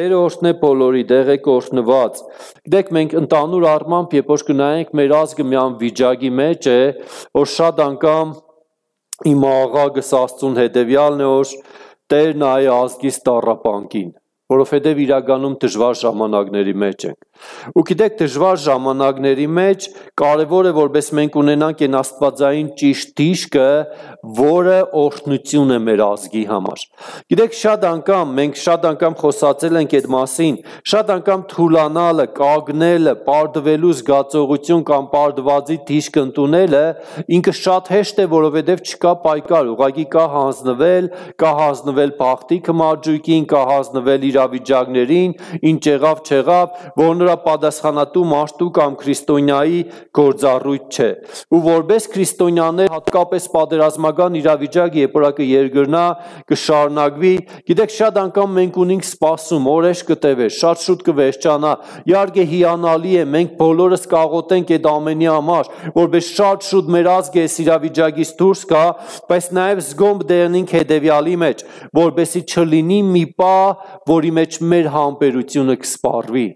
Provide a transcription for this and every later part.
Տերը օրհնե բոլորի, դեղեք օրհնված։ Գիտեք, մենք ընդհանուր առմամբ, երբ որ կնայենք մեր ազգը մի վիճակի մեջ է, որ շատ անգամ իմ աղագս Աստծուն հետևյալն է, որ Տեր նայ ազգիս տառապանքին, որովհետև իրականում դժվար ժամանակների մեջ ենք։ Ու գիտեք, դժվար ժամանակների մեջ կարևոր է, որպես մենք ունենանք այն աստվածային ճիշտ դիշկը, որը օրհնություն է մեր ազգի համար։ Գիտեք, մենք շատ անգամ խոսացել ենք այդ մասին, շատ անգամ թուլանալը, կագնելը, պարտվելու զգացողություն կամ պարտվածի դիշկ ընդունելը ինքը շատ հեշտ է, որովհետև չկա պայքար, ուղղակի կա հանձնվել բախտի կմաջույքին, կա հանձնվել իրավիճակներին, ինչ եղավ, չեղավ, որ նրա պատասխանատու մարդու կամ քրիստոնյայի գործառույթ չէ։ Ու որպես քրիստոնյաներ հատկապես պատերազմական իրավիճակ, երբ որ կերգրնա, կշարունակվի, գիտեք, շատ անգամ մենք ունենք սպասում, օրեր կտևե, շատ շուտ կվերջանա, իհարկե հիանալի է, մենք բոլորս կաղոթենք այդ ամենի համար, որպես շատ շուտ մեր ազգը այս իրավիճակից դուրս գա, բայց նաև զգոմ դեռնենք հետևյալի մեջ, որպեսզի չլինի մի պահ, որի մեջ մեր համբերությունը կսպառվի։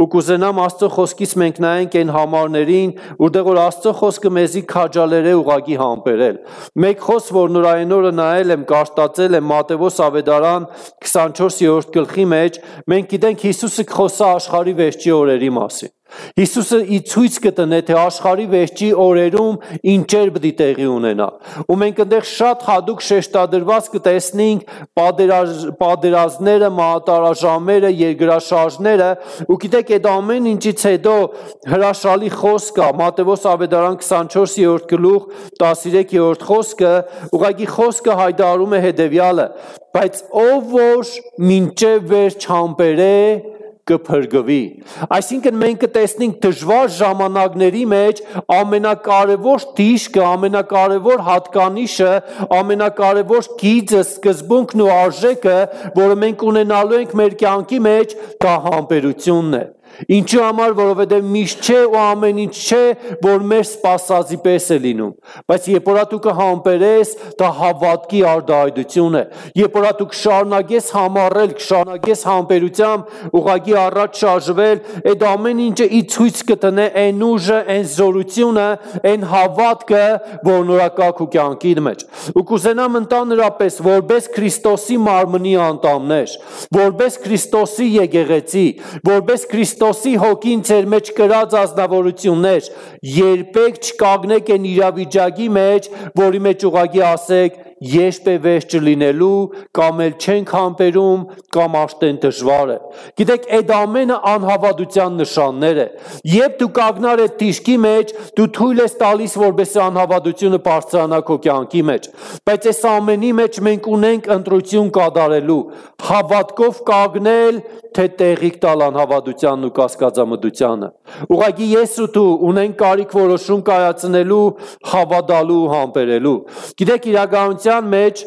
Ու կուզենամ Աստծո խոսքից մենք նայենք այն համարներին, որտեղ որ Աստծո խոսքը մեզի քաջալեր է ուղղակի համբերել։ Մեկ խոսք, որ նորային օրը նայել եմ, կարդացել եմ Մատթեոս ավետարան 24-րդ գլխի մեջ, մենք գիտենք Հիսուսը խոսա աշխարհի վերջի օրերի մասին։ Հիսուսը ցույց կտնե, թե աշխարհի վերջի օրերում ինչեր պետք է տեղի ունենա։ Ու մենք այնտեղ շատ հատուկ շեշտադրված կտեսնենք պատերազմները, մահատարաժամերը, երկրաշարժները, ու գիտեք, այդ ամեն ինչից հետո հրաշալի խոսք կա, Մատթեոս ավետարան 24-րդ գլուխ 13-րդ խոսքը, ուղղակի խոսքը հայտարարում է հետևյալը. բայց ով որ մինչև վերջ համբերե կփրկվի։ Այսինքն մենք կտեսնենք դժվար ժամանակների մեջ ամենակարևոր դիշկը, ամենակարևոր հատկանիշը, ամենակարևոր գիծը, սկզբունքն ու արժեքը, որը մենք ունենալու ենք մեր կյանքի մեջ, դա համբերությունն է։ Ինչու համար, որովհետև միշտ չէ ու ամեն ինչ չէ, որ մեր սպասածի պես է լինում, բայց երբ որ դու կհամբերես, դա հավատքի արտահայտություն է։ Երբ որ դու կշարունակես համառել, կշարունակես համբերությամբ ուղղակի առաջ շարժվել, այդ ամեն ինչը ի ցույց կտնե այն ուժը, այն զորությունը, այն հավատքը, որ նորակա քո կյանքի մեջ։ Ու կուզենամ ընդհանրապես, որպես Քրիստոսի մարմնի անդամներ, որպես Քրիստոսի եկեղեցի, որպես Քրիստոսի հոգին ձեր մեջ կրած ազնվորություններ, երբեք չկանգնեք այն իրավիճակի մեջ, որի մեջ ուղղակի ասեք, երբ է վերջ չլինելու, կամ էլ չենք համբերում, կամ արդեն դժվար է։ Գիտեք, այդ ամենը անհավատության նշաններ է։ Երբ դու կանգնար այդ դիշկի մեջ, դու թույլ ես տալիս, որպեսզի անհավատությունը բարձրանա քո կյանքի մեջ։ Բայց այս ամենի մեջ մենք ունենք ընտրություն կատարելու, հավատքով կանգնել, թե տեղիք տալ անհավատությանն ու կասկածամտությանը։ Ուղղակի ես ու դու ունենք կարիք որոշում կայացնելու, հավատալու ու համբերելու։ Գիտեք, իրականության մեջ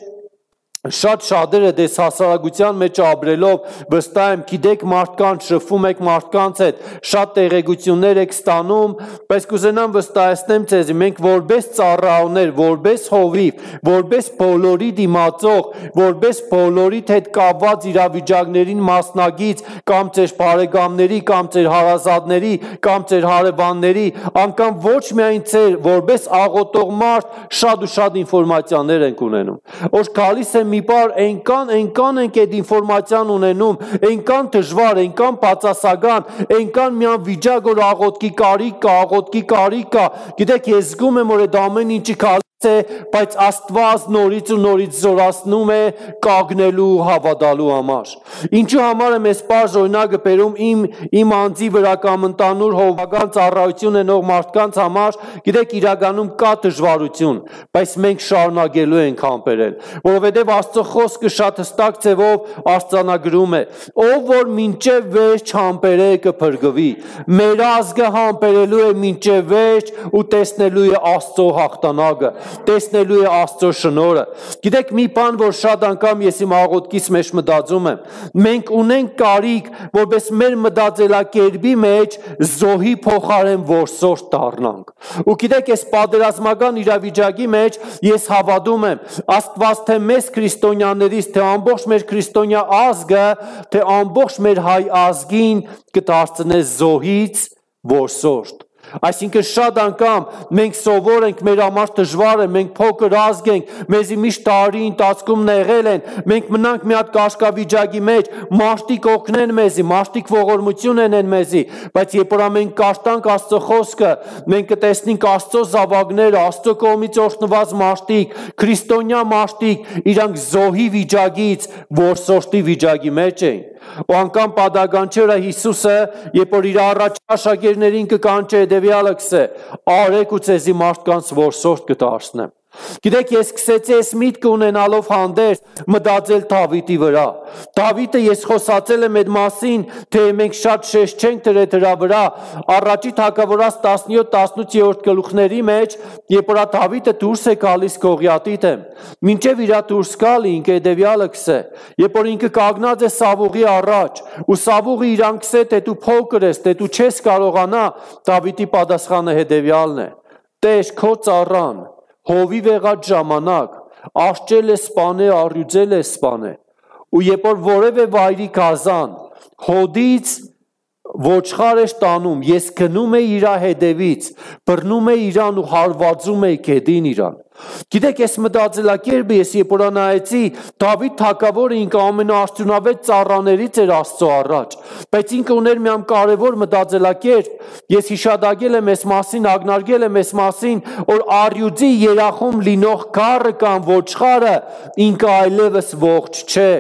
շատ շատերը դες հասարակության մեջ ապրելով վստահ եմ, գիտեք, մարդկանց շփվում եք մարդկանց հետ, շատ տեղեկություններ եք ստանում, բայց կուզենամ վստահեցնեմ ձեզ, մենք որպես ծառայողներ, որպես հովիվ, որպես բոլորի դիմացող, որպես բոլորիդ հետ կապված իրավիճակներին մասնագից, կամ ձեր բարեկամների, կամ ձեր հարազատների, կամ ձեր հարևանների, անգամ ոչ միայն ձեր, որպես աղոթող մարդ, շատ ու շատ ինֆորմացիաներ ենք ունենում։ Որ գալիս է մի բար այնքան ենք այդ ինֆորմացիան ունենում, այնքան դժվար, այնքան բացասական, այնքան միան վիճակ, որ աղոթքի կարիք կա, գիտեք, ես զգում եմ, որ այդ ամեն ինչի բայց Աստված նորից ու նորից զորացնում է կանգնելու հավատալու համար։ Ինչու համար եմ այս պարզ օրինակը բերում իմ անձի վրա կամ ընդհանուր հովվական ծառայություն ունեցող մարդկանց համար, գիտեք, իրականում կա դժվարություն, բայց մենք շարունակելու ենք համբերել, որովհետև Աստծո խոսքը շատ հստակ ձևով արձանագրում է. ով որ մինչև վերջ համբերե կփրկվի։ Մեր ազգը համբերելու է մինչև վերջ ու տեսնելու է Աստծո հաղթանակը։ տեսնելու է Աստծո շնորհը։ Գիտեք մի բան, որ շատ անգամ ես իմ աղոթքից մեջ մտածում եմ, մենք ունենք կարիք, որպես մեր մտածելակերպի մեջ զոհի փոխարեն որսորդ դառնանք։ Ու գիտեք, այս պատերազմական իրավիճակի մեջ ես հավատում եմ, Աստված թե մեզ քրիստոնյաներից, թե ամբողջ մեր քրիստոնյա ազգը, թե ամբողջ մեր հայ ազգին կդարձնե զոհից որսորդ։ Այսինքն շատ անգամ մենք սովոր ենք, մեր համար դժվար է, մենք փոքր ազգ ենք, մեզի միշտ տարի ընթացքում նեղել են, մենք մնանք մի հատ կաշկավիճակի մեջ, մարդիկ օգնեն մեզի, մարդիկ ողորմություն են մեզի, բայց երբ որ մենք կաշտանք Աստծո խոսքը, մենք կտեսնենք Աստծո զավակները, Աստծո կողմից օրհնված մարդիկ, քրիստոնյա մարդիկ, իրանք զոհի վիճակից որսորդի վիճակի մեջ են։ Ու անգամ պատականչերը Հիսուսը, երբ որ իր առաջ աշակերտներին կկանչե հետևյալը կսե, արեք ու ցեզի մարդկանց որսորդ կդարձնեմ։ Գիտեք, ես սկսեցի այս միտքը ունենալով հանդերձ մտածել Դավիթի վրա։ Դավիթը ես խոսացել եմ այդ մասին, թե մենք շատ շեշտ չենք դրել դրա վրա, առաջի թագավորաց 17-18-րդ գլուխների մեջ, երբ որ Դավիթը դուրս է գալիս Գողիաթի դեմ, մինչև իր դուրս գալը ինքը հետևյալը կսե, երբ որ ինքը կանգնած է Սավուղի առաջ, ու Սավուղը իրան կսե, թե դու փոքր ես, թե դու չես կարողանա, Դավիթի պատասխանը հետևյալն է. Տեր, քո ծառան հովի վեղած ժամանակ աշճել է սպանե, առյուծել է սպանե, ու երբ որ որևէ վայրի գազան հոդից ոչխար է տանում, ես գնում եմ իր հետևից, բռնում եմ իրան ու հարվածում եմ գետին իրան։ Գիտեք, այս մտածելակերպը ես երբ որ նայեցի, Դավիթ թագավորը ինքը ամենաարդյունավետ ծառաներից էր Աստծո առաջ, բայց ինքը ուներ մի կարևոր մտածելակերպ, ես հիշադակել եմ այս մասին, ակնարկել եմ այս մասին, որ առյուծի երախում լինող գառը կամ ոչխարը ինքը այլևս ողջ չէ։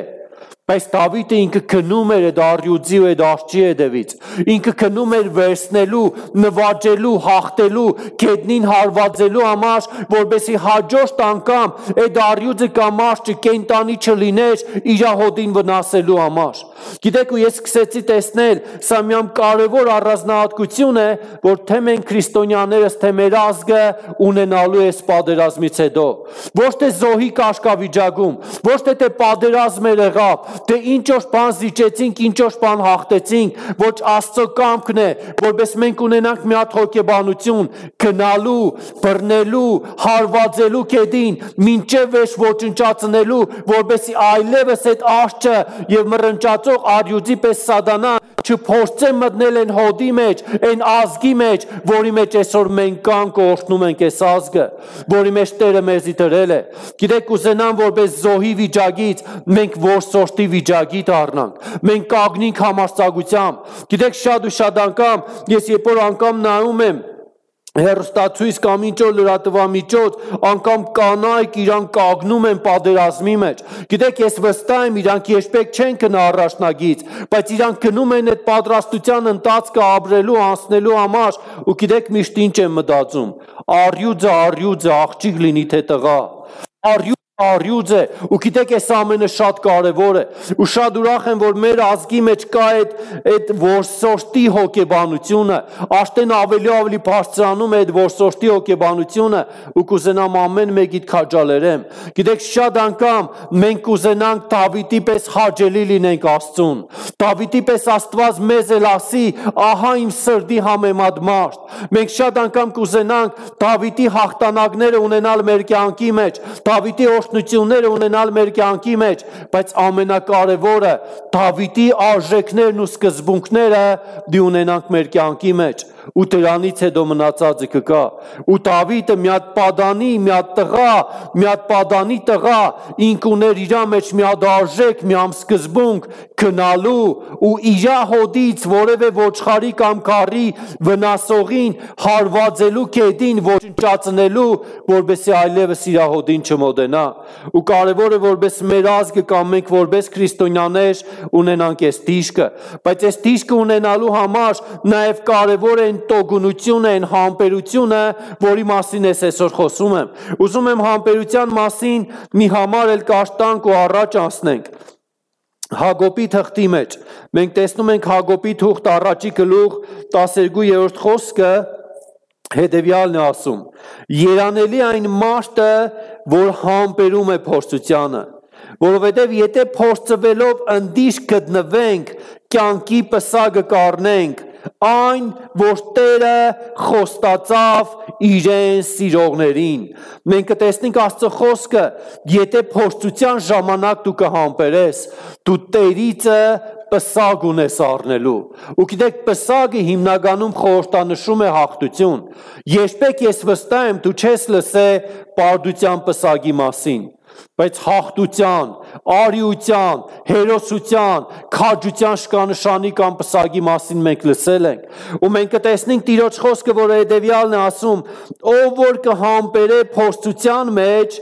Բայց Դավիթը ինքը քնում էր այդ առյուծի ու այդ արջի հետևից, ինքը քնում էր վերցնելու, նվաճելու, հաղթելու, գետնին հարվածելու համար, որպեսզի հաջորդ անգամ այդ առյուծը կամ արջը կենտանի չլիներ իր հոտին վնասելու համար։ Գիտեք, ու ես սկսեցի տեսնել, սա մի կարևոր առանձնահատկություն է, որ թե մենք քրիստոնյաներս, թե մեր ազգը ունենալու է այս պատերազմից հետո։ Ոչ թե զոհի կաշկավիճակում, ոչ թե պատերազմ էր եղավ, թե ինչ որ բան զիջեցինք, ինչ որ բան հաղթեցինք, ոչ Աստծո կամքն է, որպես մենք ունենանք մի հատ հոգեբանություն, գնալու, բռնելու, հարվածելու գետին, մինչև վերջ ոչնչացնելու, որպեսզի այլևս այդ արջը եւ մռնչացող առյուծի պես սատանա չփորձե մտնել այն հոդի մեջ, այն ազգի մեջ, որի մեջ այսօր մենք կանք օրհնում ենք այս ազգը, որի մեջ Տերը մեզի դրել է։ Գիտեք, կուզենամ, որպես զոհի վիճակից մենք որսորդի վիճակի դառնանք, մենք կանգնենք համարձակությամբ։ Գիտեք, շատ ու շատ անգամ ես երբ որ անգամ նայում եմ հեռուստացույց կամ ինչ որ լրատվամիջոց, անգամ կանայք իրան կանգնում են պատերազմի մեջ։ Գիտեք, ես վստահ եմ, իրանք երբեք չեն գնա առաջնագից, բայց իրանք գնում են այդ պատրաստության ընթացքը ապրելու, անցնելու համար, ու գիտեք միշտ ինչ եմ մտածում, առյուծը, աղջիկ լինի թե տղա, առյուծ է, ու գիտեք, այս ամենը շատ կարևոր է, ու շատ ուրախ եմ, որ մեր ազգի մեջ կա այդ որսորդի հոգեբանությունը, արդեն ավելի բարձրանում է այդ որսորդի հոգեբանությունը, ու կուզենամ ամեն մեկիդ քաջալերեմ։ Գիտեք, շատ անգամ մենք կուզենանք Դավիթի պես հաճելի լինենք Աստծուն, Դավիթի պես Աստված մեզ էլ ասի, ահա իմ սրտի համեմատ մարդ։ Մենք շատ անգամ կուզենանք Դավիթի հաղթանակները ունենալ մեր կյանքի մեջ, Դավիթի օրհնությունները ունենալ մեր կյանքի մեջ, բայց ամենակարևորը Դավիթի արժեքներն ու սկզբունքները դի ունենանք մեր կյանքի մեջ, ու դրանից հետո մնացածը կգա։ Ու Դավիթը մի հատ պատանի, մի հատ տղա, մի հատ պատանի տղա, ինք ուներ իր մեջ մի հատ արժեք, մի հատ սկզբունք գնալու ու իր հոդից որևէ ոչխարի կամ քարի վնասողին հարվածելու գետին ոչնչացնելու, որպեսզի այլևս իր հոդին չմոտենա։ Ու կարևոր է, որպես մեր ազգը կամ մենք որպես քրիստոնյաներ ունենանք այս դիշկը, բայց այս դիշկը ունենալու համար նաև կարևոր է այն տոկունությունը, այն համբերությունը, որի մասին ես այսօր խոսում եմ։ Ուզում եմ համբերության մասին մի համար էլ կաշտանք ու առաջ անցնենք։ Հակոբի թղթի մեջ մենք տեսնում ենք Հակոբի թուղթ առաջի գլուխ 12-րդ խոսքը, հետևյալն է ասում. երանելի այն մարդը, որ համբերում է փորձությանը, որովհետև եթե փորձվելով ընդիշ գտնվենք, կյանքի պսակը կառնենք, այն, որ Տերը խոստացավ իրեն սիրողներին։ Մենք կտեսնենք Աստծո խոսքը, եթե փորձության ժամանակ դու կհամբերես, դու Տերիցը պսակ ունես առնելու։ Ու գիտեք, պսակը հիմնականում խորհրդանշում է հաղթություն։ Երբեք ես վստահ եմ, դու չես լսել պարտության պսակի մասին, բայց հաղթության, արիության, հերոսության, քաջության շքանշանի կամ պսակի մասին մենք լսել ենք։ Ու մենք կտեսնենք Տիրոջ խոսքը, որը հետևյալն է ասում. ով որ կհամբերե փորձության մեջ,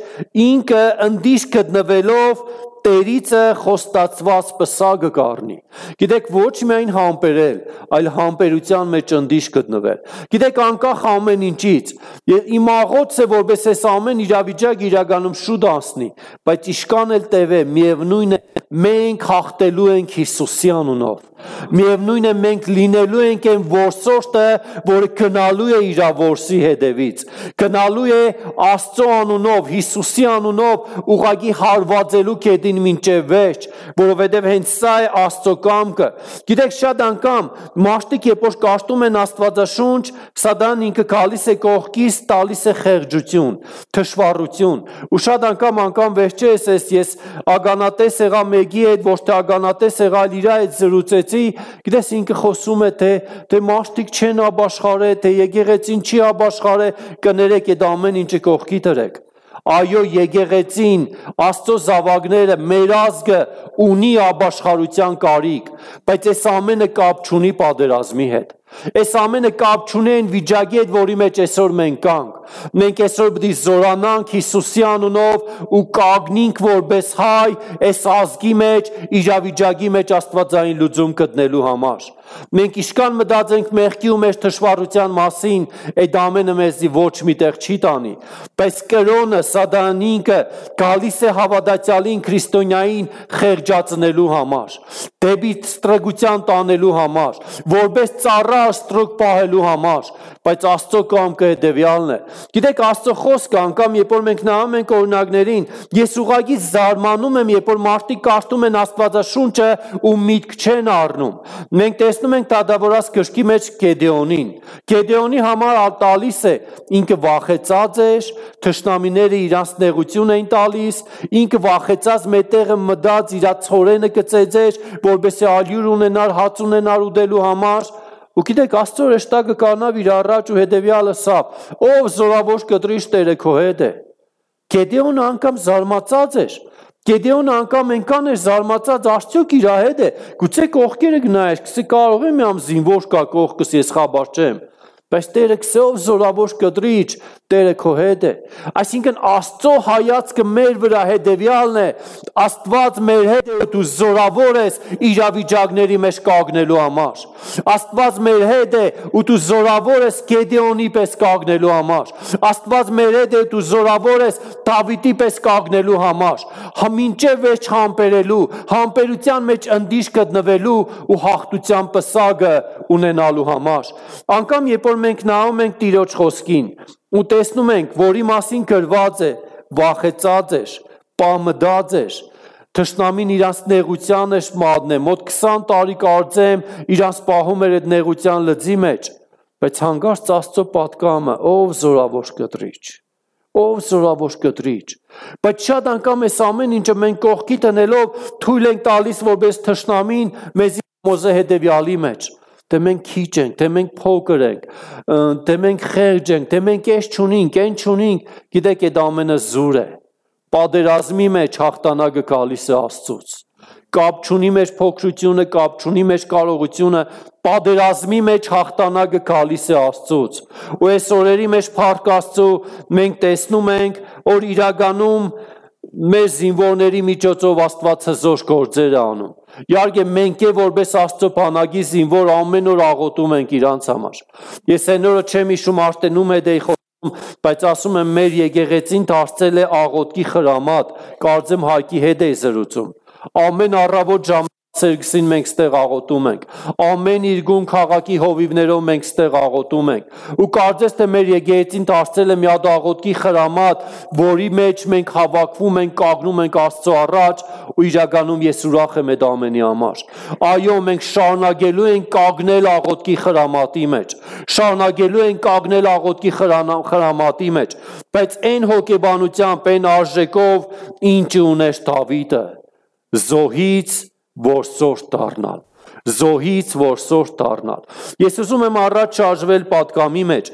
ինքը ընդիշ գտնվելով Տերիցը խոստացված պսակը կառնի։ Գիտեք, ոչ միայն համբերել, այլ համբերության մեջ ընդիշ գտնվել։ Գիտեք, անկախ ամեն ինչից, իմ աղոթս է, որպես այս ամեն իրավիճակ իրականում շուտ անցնի, բայց իշքան էլ տևե, միևնույն է, մենք հաղթելու ենք Հիսուսի անունով։ Միևնույն է, մենք լինելու ենք այն որսորդը, որը գնալու է իր որսի հետևից, գնալու է Աստծո անունով, Հիսուսի անունով ուղղակի հարվածելու կետին մինչև վերջ, որովհետև հենց սա է Աստծո կամքը։ Գիտեք, շատ անգամ մարդիկ երբ որ կարդում են Աստվածաշունչ, Սատանան ինքը գալիս է կողքից, տալիս է խեղճություն, թշվառություն, ու շատ անգամ վերջերս ես ագանատես եղա մեկի հետ, ոչ թե ագանատես եղա, իր հետ զրուցեցի, գիտես ինքը խոսում է, թե մարդիկ չեն ապաշխարել, թե եկեղեցին չի ապաշխարել, կներեք այդ ամեն ինչը կողքի դրեք։ Այո, եկեղեցին, Աստծո զավակները, մեր ազգը ունի ապաշխարության կարիք, բայց այս ամենը կապ չունի պատերազմի հետ։ Այս ամենը կապ չունի այն վիճակի հետ, որի մեջ այսօր մենք կանք։ Մենք այսօր պետք է զորանանք Հիսուսի անունով ու կանգնենք որպես հայ այս ազգի մեջ, իրավիճակի մեջ աստվածային լուծում գտնելու համար։ Մենք իշքան մտածենք մեղքի ու մեր թշվառության մասին, այդ ամենը մեզի ոչ միտեղ չի տանի, բայց կրոնը, Սատանինքը գալիս է հավատացյալին, քրիստոնյային խեղճացնելու համար, դեպի ստրկության տանելու համար, որպես ծառա ստրուկ պահելու համար, բայց Աստծո կամքը հետևյալն է։ Գիտեք, Աստծո խոսքը անգամ երբ որ մենք նայում ենք օրինակներին, ես ուղղակի զարմանում եմ, երբ որ մարդիկ կարդում են Աստվածաշունչը ու միտք չեն առնում։ Մենք տեսնում ենք Դատավորաց գրքի մեջ Գեդեոնին։ Գեդեոնի համար տալիս է, ինքը վախեցած էր, թշնամիները իրանց նեղություն էին տալիս, ինքը վախեցած մետեղը մտած իր ցորենը կծեծեր, որպեսզի ալյուր ունենար, հաց ունենար ուտելու համար։ Ու գիտեք, Աստծո հրեշտակը կառնավ իր առաջ ու հետևյալը սա. ով զորավոր կտրիչ Տերը քո հետ է։ Գեդեոնը անգամ զարմացած էր։ Գեդեոնը անգամ այնքան էր զարմացած, արդյոք իր հետ է։ Գուցե կողքերը գնայր, կսի կարող եմ ամ զինվոր կա կողքս, ես խաբար չեմ։ Բայց Տերը քսով զորավոր կտրիչ, Տերը քո հետ է։ Այսինքն Աստծո հայացքը մեր վրա հետևյալն է, Աստված մեր հետ է, դու զորավոր ես իրավիճակների մեջ կանգնելու համար։ Աստված մեր հետ է, ու դու զորավոր ես Գեդեոնի պես կանգնելու համար։ Աստված մեր հետ է, դու զորավոր ես Դավիթի պես կանգնելու համար։ Մինչև վերջ համբերելու, համբերության մեջ ընդիշ գտնվելու ու հաղթության պսակը ունենալու համար։ Անկամ երբ որ մենք նայում ենք Տիրոջ խոսքին ու տեսնում ենք, որի մասին գրված է, վախեցած էր, պամդած էր, թշնամին իրանց նեղության էր մատնե, մոտ 20 տարի կարծեմ իրանց պահում էր այդ նեղության լծի մեջ, բայց հանկարծ Աստծո պատկամը, ով զորավոր կտրիչ, ով զորավոր կտրիչ, բայց շատ անգամ այս ամեն ինչը մենք կողքի տնելով թույլ ենք տալիս որպես թշնամին մեզի մոզե հետևյալի մեջ, թե մենք քիչ ենք, թե մենք փոքր ենք, թե մենք խեղճ ենք, թե մենք այս չունենք, այն չունենք, գիտեք, այդ ամենը զուր է։ Պատերազմի մեջ հաղթանակը գալիս է Աստծուց։ Կապ չունի մեր փոքրությունը, կապ չունի մեր կարողությունը, պատերազմի մեջ հաղթանակը գալիս է Աստծուց։ Ու այս օրերի մեջ փառք Աստծո, մենք տեսնում ենք, որ իրականում մեր զինվորների միջոցով Աստված հզոր գործեր է անում։ Իհարկե մենք է որպես Աստծո բանակի զինվոր ամեն օր աղոթում ենք իրանց համար։ Ես այն օրը չեմ հիշում Արտենում հետ էի խոսում, բայց ասում եմ մեր եկեղեցին դարձել է աղոթքի խրամատ, կարծեմ Հայկի հետ էի զրուցում։ Ամեն առավոտ ժամը Սերգսին մենք ստեղ աղոթում ենք, ամեն իրգուն քաղաքի հովիվներով մենք ստեղ աղոթում ենք, ու կարծես թե մեր եկեղեցին դարձել է մի հատ աղոթքի խրամատ, որի մեջ մենք հավաքվում ենք, կանգնում ենք Աստծո առաջ, ու իրականում ես ուրախ եմ այդ ամենի համար։ Այո, մենք շարունակելու ենք կանգնել աղոթքի խրամատի մեջ, շարունակելու ենք կանգնել աղոթքի խրամատի մեջ, բայց այն հոգեբանությամբ, այն արժեքով, ինչ ուներ Դավիթը, զոհից որ սորտ դառնալ, զոհից որ սորտ դառնալ։ Ես ուզում եմ առաջ շարժվել պատգամի մեջ,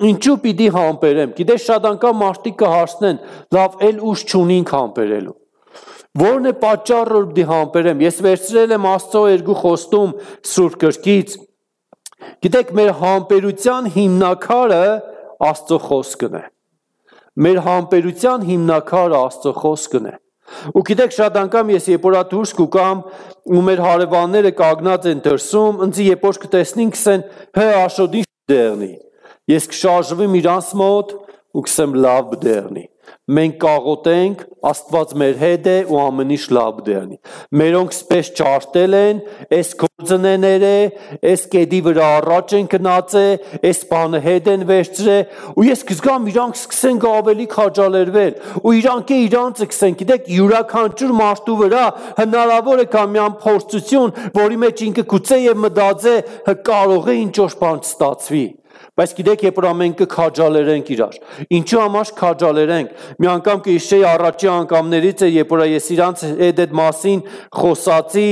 ինչու պիտի համբերեմ, գիտես շատ անգամ մարդիկ կհարցնեն, լավ էլ ուժ չունենք համբերելու, որն է պատճառը որ պիտի համբերեմ, ես վերցրել եմ Աստծո երկու խոստում Սուրբ գրքից, գիտեք մեր համբերության հիմնակարը Աստծո խոսքն է, մեր համբերության հիմնակարը Աստծո խոսքն է, ու գիտեք շատ անգամ ես երբ որ դուրս կուկամ ու մեր հարևանները կանգնած են դրսում, ինձ երբ որ կտեսնին կսեն, հե Աշոտ ինչ դեղնի, ես կշարժվեմ իրանց մոտ ու կսեմ լավ դեղնի, մենք կաղոթենք, Աստված մեր հետ է ու ամեն ինչ լավ դեղնի, մերոնք սպես ճարտել են, այս գործնեները, այս կետի վրա առաջ են գնացե, այս բանը հետ են վերցրել, ու ես կզգամ իրանք սկսեն ավելի քաջալերվել, ու իրանք իրանցը կսեն, գիտեք, յուրաքանչյուր մարդու վրա հնարավոր է կա մի փորձություն, որի մեջ ինքը գուցե եւ մտածե, կարող է ինչ որ բան ստացվի, բայց գիտեք, երբ որ մենք կքաջալերենք իրար, ինչու համար քաջալերենք, մի անգամ կհիշեի առաջի անգամներից է, երբ որ ես իրանց հետ այդ մասին խոսացի,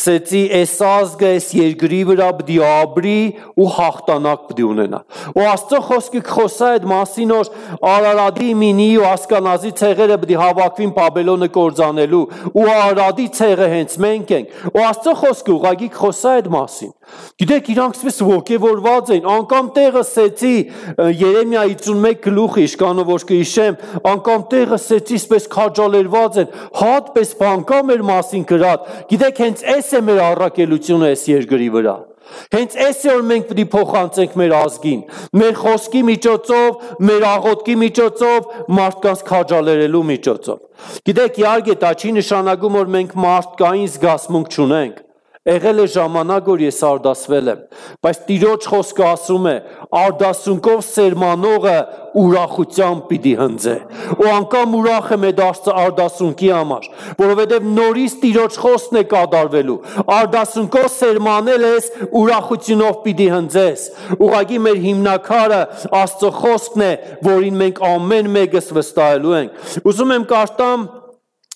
սեցի այս ազգը, այս երկրի վրա պիտի ապրի ու հաղթանակ պիտի ունենա, ու Աստծո խոսքը կխոսա այդ մասին, որ Արարատի, Մինի ու Ասկանազի ցեղերը պիտի հավաքվին Բաբելոնը կործանելու, ու Արարատի ցեղը հենց մենք ենք, ու Աստծո խոսքը ուղղակի կխոսա այդ մասին, գիտեք, իրանք սպես ոգևորված են, անգամ տեղը սեցի Երեմիա 51 գլուխի իշկանով որ կհիշեմ, անգամ տեղը սեցի սպես քաջալերված են, հատպես բան կա մեր մասին գրած, գիտեք, հենց այս է մեր առաքելությունը այս երկրի վրա, հենց այս է որ մենք պիտի փոխանցենք մեր ազգին, մեր խոսքի միջոցով, մեր աղոթքի միջոցով, մարդկանց քաջալերելու միջոցով, գիտեք, իհարկե դա չի նշանակում որ մենք մարդկային զգացմունք չունենք, եղել է ժամանակ, որ ես արդասվել եմ, բայց Տիրոջ խոսքը ասում է, արդասունքով սերմանողը ուրախությամբ պիտի հնձե, ու անգամ ուրախ եմ այդ արդասունքի համար, որովհետև նորից Տիրոջ խոսքն է կատարվելու, արդասունքով սերմանել ես, ուրախությունով պիտի հնձես, ուղղակի մեր հիմնակարը Աստծո խոսքն է, որին մենք ամեն մեկս վստահելու ենք, ուզում եմ կարդամ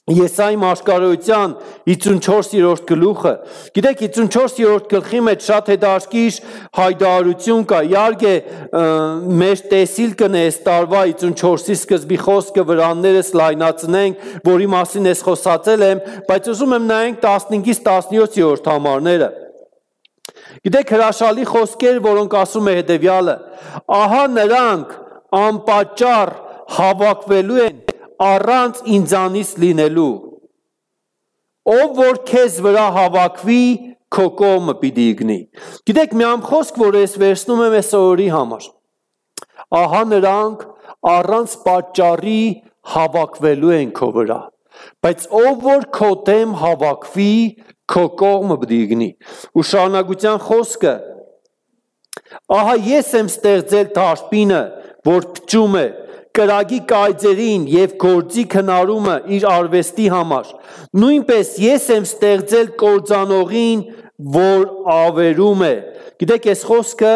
Եսայի մաշկարոյության 54-րդ գլուխը, գիտեք 54-րդ գլխի մեջ շատ հետաքրքիր հայտարարություն կա, իհարկե մեր տեսիլ կն է այս տարվա 54-ի սկզբի խոսքը վրաններս լայնացնենք, որի մասին ես խոսացել եմ, բայց ուզում եմ նայենք 15-ից 17-րդ համարները, գիտեք հրաշալի խոսքեր, որոնք ասում է հետևյալը, ահա նրանք անպատճառ հավաքվելու են առանց ինձանից լինելու, ով որ քեզ վրա հավաքվի, քո կողմը պիտի իգնի, գիտեք մի խոսք, որ ես վերցնում եմ այս օրի համար, ահա նրանք առանց պատճառի հավաքվելու են քո վրա, բայց ով որ քո դեմ հավաքվի, քո կողմը պիտի իգնի, ու շարունակության խոսքը, ահա ես եմ ստեղծել դարբինը, որ փչում է, կրագի կայծերին և գործի քնարումը իր արվեստի համար, նույնպես ես եմ ստեղծել կործանողին, որ ավերում է, գիտեք այս խոսքը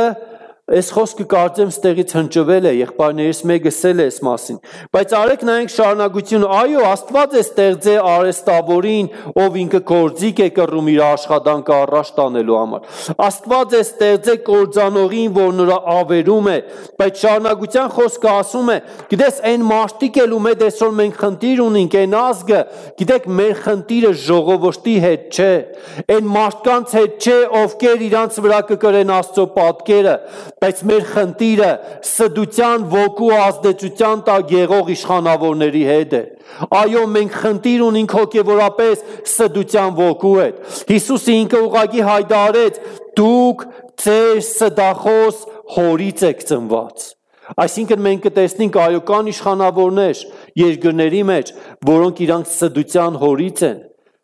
կարծեմ ստեղից հնչվել է, եղբայրներից մեկը ասել է այս մասին, բայց արեք նայենք շարունակությունը, այո, Աստված է ստեղծել արհեստավորին, ով ինքը գործիք է կռում իր աշխատանքը առաջ տանելու համար, Աստված է ստեղծել կործանողին, որ նրա ավերում է, բայց շարունակության խոսքը ասում է, գիտես այն մարդիկ էլ ում հետ այսօր մենք խնդիր ունենք, այն ազգը, գիտեք մեր խնդիրը ժողովրդի հետ չէ, այն մարդկանց հետ չէ, ովքեր իրանց վրա կկրեն Աստծո պատկերը, բայց մեր խնդիրը սդության ոգու ազդեցության տակ եղող իշխանավորների հետ է, այո մենք խնդիր ունենք հոգևորապես սդության ոգու հետ, Հիսուսը ինքը ուղղակի հայտարարեց, դուք ձեր սդախոս հորից եք ծնված, այսինքն մենք կտեսնենք այո կան իշխանավորներ երկրների մեջ, որոնք իրանք սդության հորից են,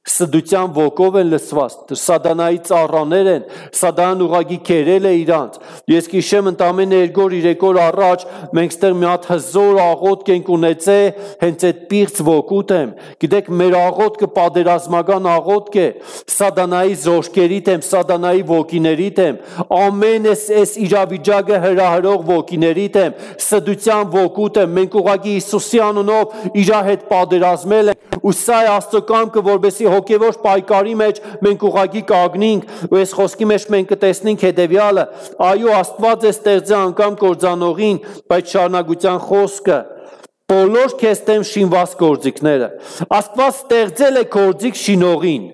Սդության ոգով են լցված, սատանայի ծառաներ են, սատանան ուղղակի քերել է իրանց։ Ես գիշեմ ընդամենը 2-3 օր առաջ մենք ստեղ մի հատ հզոր աղոթք ենք ունեցել, հենց այդ պիղծ ոգուտ եմ։ Գիտեք, մեր աղոթքը պատերազմական աղոթք է, սատանայի զորքերի դեմ, սատանայի ոգիների դեմ, ամեն այս իրավիճակը հրահրող ոգիների դեմ, սդության ոգուտ է, մենք ուղղակի Հիսուսի անունով իր հետ պատերազմել ենք, ու սա է Աստծո կամքը, որովհետեւ հոգևոր պայքարի մեջ մենք ուղղակի կանգնենք, ու այս խոսքի մեջ մենք կտեսնենք հետևյալը. այո, Աստված է ստեղծել անգամ կործանողին, բայց շարունակության խոսքը բոլոր քեզ դեմ շինված գործիքները։ Աստված ստեղծել է գործիք շինողին։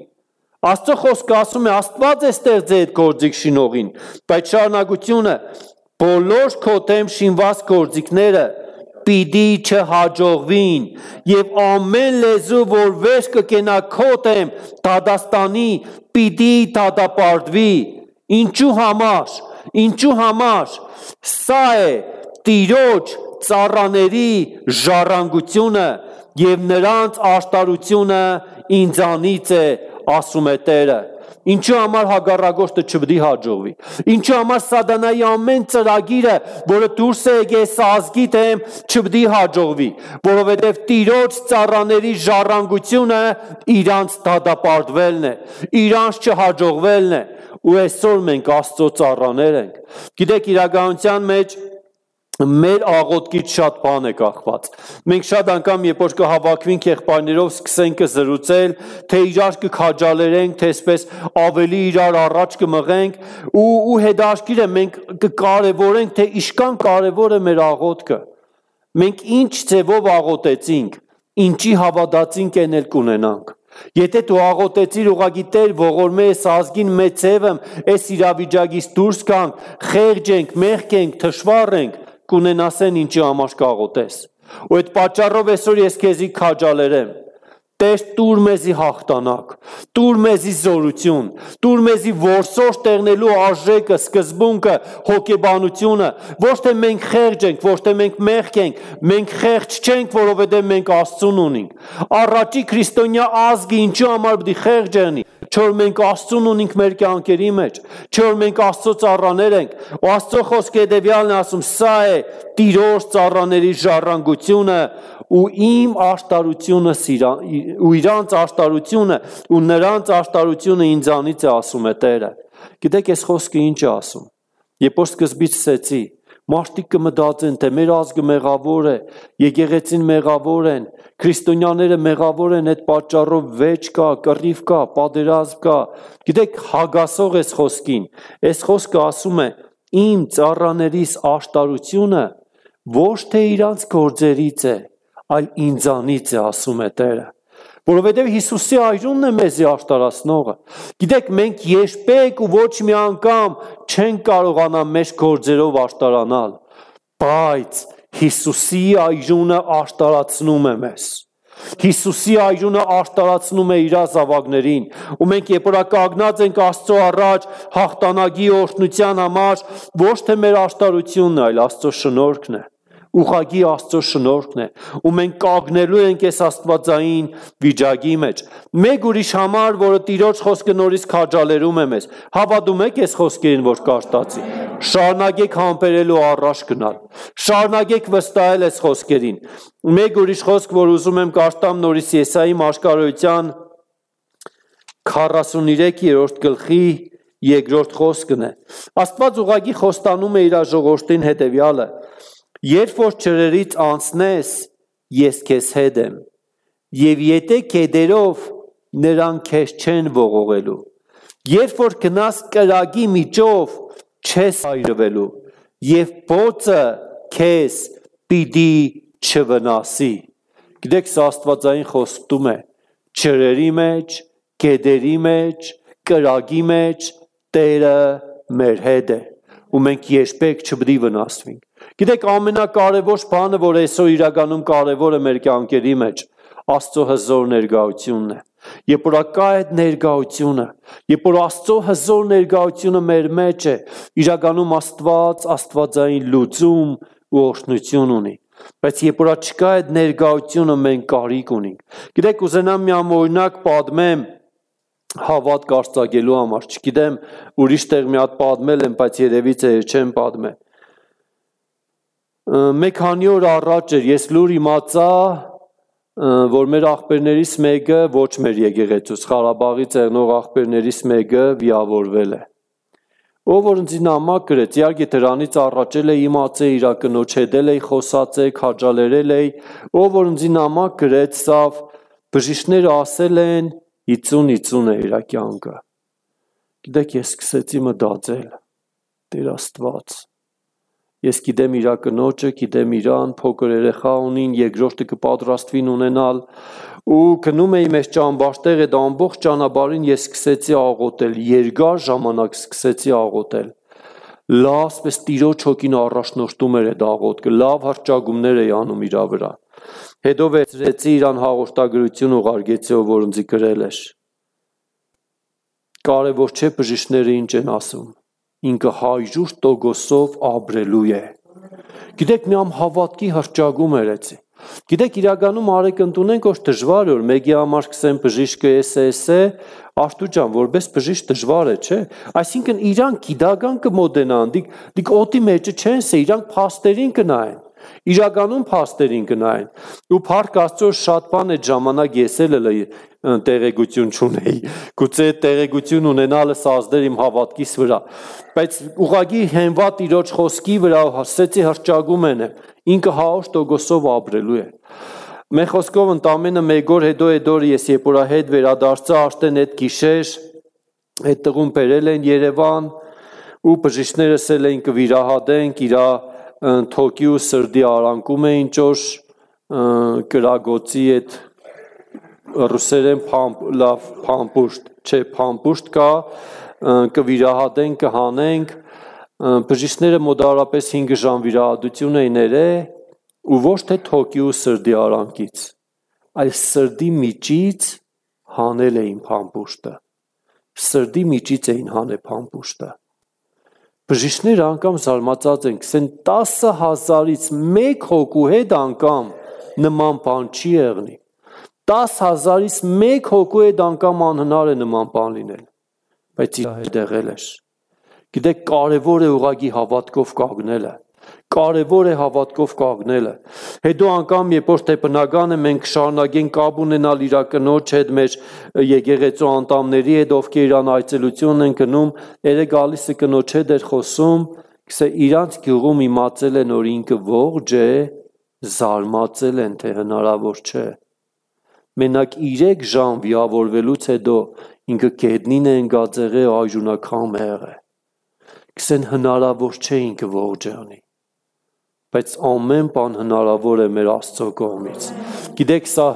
Աստծո խոսքը ասում է Աստված է ստեղծել այդ գործիք շինողին, բայց շարունակությունը բոլոր քո դեմ շինված գործիքները պիտի չհաջողվին, եւ ամեն լեզու, որ վեր կկենա քո դեմ դատաստանի, պիտի դատապարտվի։ Ինչու համար, սա է Տիրոջ ծառաների ժառանգությունը եւ նրանց աշտարությունը ինձանից է, ասում է Տերը։ Ինչու համար հակառակորդը չպետք է հաջողվի։ Ինչու համար սատանայի ամեն ծրագիրը, որը դուրս է եկել ազգի դեմ, չպետք է հաջողվի, որովհետև Տիրոջ ծառաների ժառանգությունը իրանց դատապարտվելն է, իրանց չհաջողվելն է, ու այսօր մենք Աստծո ծառաներ ենք։ Գիտեք, իրականության մեջ մեր աղոթքից շատ բան է կախված։ Մենք շատ անգամ, երբ որ կհավաքվենք եղբայրներով, սկսենք զրուցել, թե իրար կքաջալերենք, թե այսպես ավելի իրար առաջ կմղենք, ու հետաքրքիր է, մենք կկարևորենք, թե ինչքան կարևոր է մեր աղոթքը։ Մենք ինչ ձևով աղոթեցինք, ինչի հավատացինք, այն էլ կունենանք։ Եթե դու աղոթեցիր ուղղակի Տեր ողորմե այս ազգին մեծ ձևը, այս իրավիճակից դուրս գանք, խեղճ ենք, մեղք ենք, թշվառ ենք, կունենասեն ինչի համար կաղոթես։ Ու այդ պատճառով այսօր ես քեզի քաջալերեմ։ Տեր տուր մեզի հաղթանակ, տուր մեզի զորություն, տուր մեզի որսորդ տեղնելու արժեքը, սկզբունքը, հոգեբանությունը, ոչ թե մենք խեղճ ենք, ոչ թե մենք մեղք ենք, մենք խեղճ չենք, որովհետև մենք Աստծուն ունենք։ Առաջի քրիստոնյա ազգը ինչու համար պիտի խեղճ եղնի, չէ՞ որ մենք Աստծուն ունենք մեր կյանքերի մեջ, չէ՞ որ մենք Աստծո ծառաներ ենք, ու Աստծո խոսքը հետևյալն է ասում, սա է Տիրոջ ծառաների ժառանգությունը ու իմ աշտարությունը ու իրանց աշտարությունը ու նրանց աշտարությունը ինձանից է, ասում է Տերը։ Գիտեք, այս խոսքը ինչ է ասում։ Երբ որ սկզբից ասեցի, մարդիկ կմտածեն, թե մեր ազգը մեղավոր է, եկեղեցին մեղավոր են, քրիստոնյաները մեղավոր են, այդ պատճառով վեճ կա, կռիվ կա, պատերազմ կա։ Գիտեք, հագասող այս խոսքին։ Այս խոսքը ասում է, իմ ծառաներիս աշտարությունը ոչ թե իրանց գործերից է, այլ ինձանից է, ասում է Տերը։ Որովհետև Հիսուսի այրունն է մեզի աշտարացնողը։ Գիտեք, մենք երբեք ու ոչ մի անգամ չենք կարողանա մեր գործերով աշտարանալ, բայց Հիսուսի այրունը աշտարացնում է մեզ։ Հիսուսի այրունը աշտարացնում է իր զավակներին, ու մենք երբ որ կանգնած ենք Աստծո առաջ հաղթանակի օրհնության համար, ոչ թե մեր աշտարությունն է, այլ Աստծո շնորհքն է, ուղղակի Աստծո շնորհքն է, ու մենք կանգնելու ենք այս աստվածային վիճակի մեջ։ Մեկ ուրիշ համար, որը Տիրոջ խոսքը նորից քաջալերում է մեզ, հավատում եք այս խոսքերին, որ կարտացի։ Շարունակեք համբերելու առաջ գնալ, շարունակեք վստահել այս խոսքերին։ Մեկ ուրիշ խոսք, որ ուզում եմ կարդամ նորից Եսայի մարգարոյության 43-րդ գլխի 2-րդ խոսքն է։ Աստված ուղղակի խոստանում է իր ժողովրդին հետևյալը. երբ որ ջրերից անցնես, ես քեզ հետ եմ, եւ եթե քեդերով նրանք քեզ չեն ողողելու, երբ որ գնաս կրակի միջով, չես այրվելու, եւ բոցը քեզ պիտի չվնասի։ Գիտեք, սա աստվածային խոստում է ջրերի մեջ, գետերի մեջ, կրակի մեջ Տերը մեր հետ է, ու մենք երբեք չպետք է վնասվենք։ Գիտեք, ամենակարևոր բանը, որ այսօր իրականում կարևոր է մեր կյանքերի մեջ, Աստծո հզոր ներկայությունն է։ Երբ որ կա այդ ներկայությունը, երբ որ Աստծո հզոր ներկայությունը մեր մեջ է, իրականում Աստված աստվածային լուծում ու օրհնություն ունի։ Բայց երբ որ չկա այդ ներկայությունը, մենք կարիք ունենք։ Գիտեք, ուզենամ մի օրինակ պատմեմ հավատ կարծագելու համար, չգիտեմ, ուրիշ տեղ մի հատ պատմել եմ, բայց երևի չեմ պատմել։ Մեկ քանի օր առաջ էր, ես լուր իմացա, որ մեր աղբերներից մեկը, ոչ մեր եկեղեցուց, Ղարաբաղի ծեղնող աղբերներից մեկը վիրավորվել է։ Ով որ ինձ նամակ գրեց, իհարկե դրանից առաջել է իմացել իր կնոջ հետ էի խոսացել, քաջալերել էի, ով որ ինձ նամակ գրեց, սավ բժիշկները ասել են 50-50 է իր կյանքը։ Գիտեք, ես սկսեցի մտածել, Տեր Աստված, ես գիտեմ իր կնոջը, գիտեմ իրան, փոքր երեխա ունին, երկրորդը կպատրաստվին ունենալ, ու գնում էի մեր ճամբարտեղ այդ ամբողջ ճանապարհին ես սկսեցի աղոթել, երկար ժամանակ սկսեցի աղոթել։ Լավ, ասես Տիրոջ հոգին առաջնորդում էր այդ աղոթքը, լավ հռչակումներ էի անում իր վրա։ Հետո վերցրեցի իրան հաղորդագրություն ուղարկեցի, որ ինձ գրել էր։ Կարևոր չէ բժիշկները ինչ են ասում, ինքը 100% ապրելու է։ Գիտեք, մի ամ հավատքի հռչակում էր էցի։ Գիտեք, իրականում արեք ընդունենք, որ դժվար է, որ մեկի համար սկսեն բժիշկը էս է, Արտուր ջան, որպես բժիշկ դժվար է, չէ։ Այսինքն իրանք գիտական կմոտենան, դիք օտի մեջը չեն սե, իրանք փաստերին կնայեն։ Իրականում փաստերին կնայեն։ Ու փառք Աստծո շատ բան այդ ժամանակ ես էլ տեղեկություն չունեի։ Գուցե տեղեկություն ունենալը սազդեր իմ հավատքիս վրա, բայց ուղղակի հենված Տիրոջ խոսքի վրա հասեցի հռչակում են, ինքը 100% ապրելու է։ Մեր խոսքով ընդամենը մեկ օր հետո այդ օրը ես երբ որ հետ վերադարձա, արդեն այդ գիշեր այդ տղուն բերել են Երևան ու բժիշկներս էին կվիրահատենք իր թոքի ու սրդի արանքում էին ճոշ կրագոցի այդ ռուսերեն լավ փամպուշտ, չէ, փամպուշտ կա, կվիրահատենք, կհանենք, բժիշկները մոտավորապես 5 ժամ վիրահատություն էին ներել ու ոչ թե թոքի ու սրդի արանքից, այլ սրդի միջից հանել էին փամպուշտը, սրդի միջից էին հանել փամպուշտը։ Բժիշկները անգամ զարմացած են, կսեն 10,000-ից մեկ հոգու հետ անգամ նման բան չի եղնի։ 10,000-ից մեկ հոգու հետ անգամ անհնար է նման բան լինել, բայց իր հետ եղել էր։ Գիտեք, կարևոր է ուղղակի հավատքով կանգնելը, կարևոր է հավատքով կանգնելը։ Հետո անգամ երբ որ թե բնական է մենք շարունակենք կապ ունենալ իր կնոջ հետ, մեր եկեղեցու անդամների հետ, ովքեր իրան այցելություն են գնում, երեք գալիս է կնոջ հետ էր խոսում, գսե իրանց գյուղում իմացել են, որ ինքը ողջ է, զարմացել են, թե հնարավոր չէ։ Մենակ 3 ժամ վիրավորվելուց հետո ինքը գետնին է ընկած եղել, այժունակամ եղել։ Գսեն հնարավոր չէ ինքը ողջ անի, բայց ամեն բան հնարավոր է մեր Աստծո կողմից։ Գիտեք, սա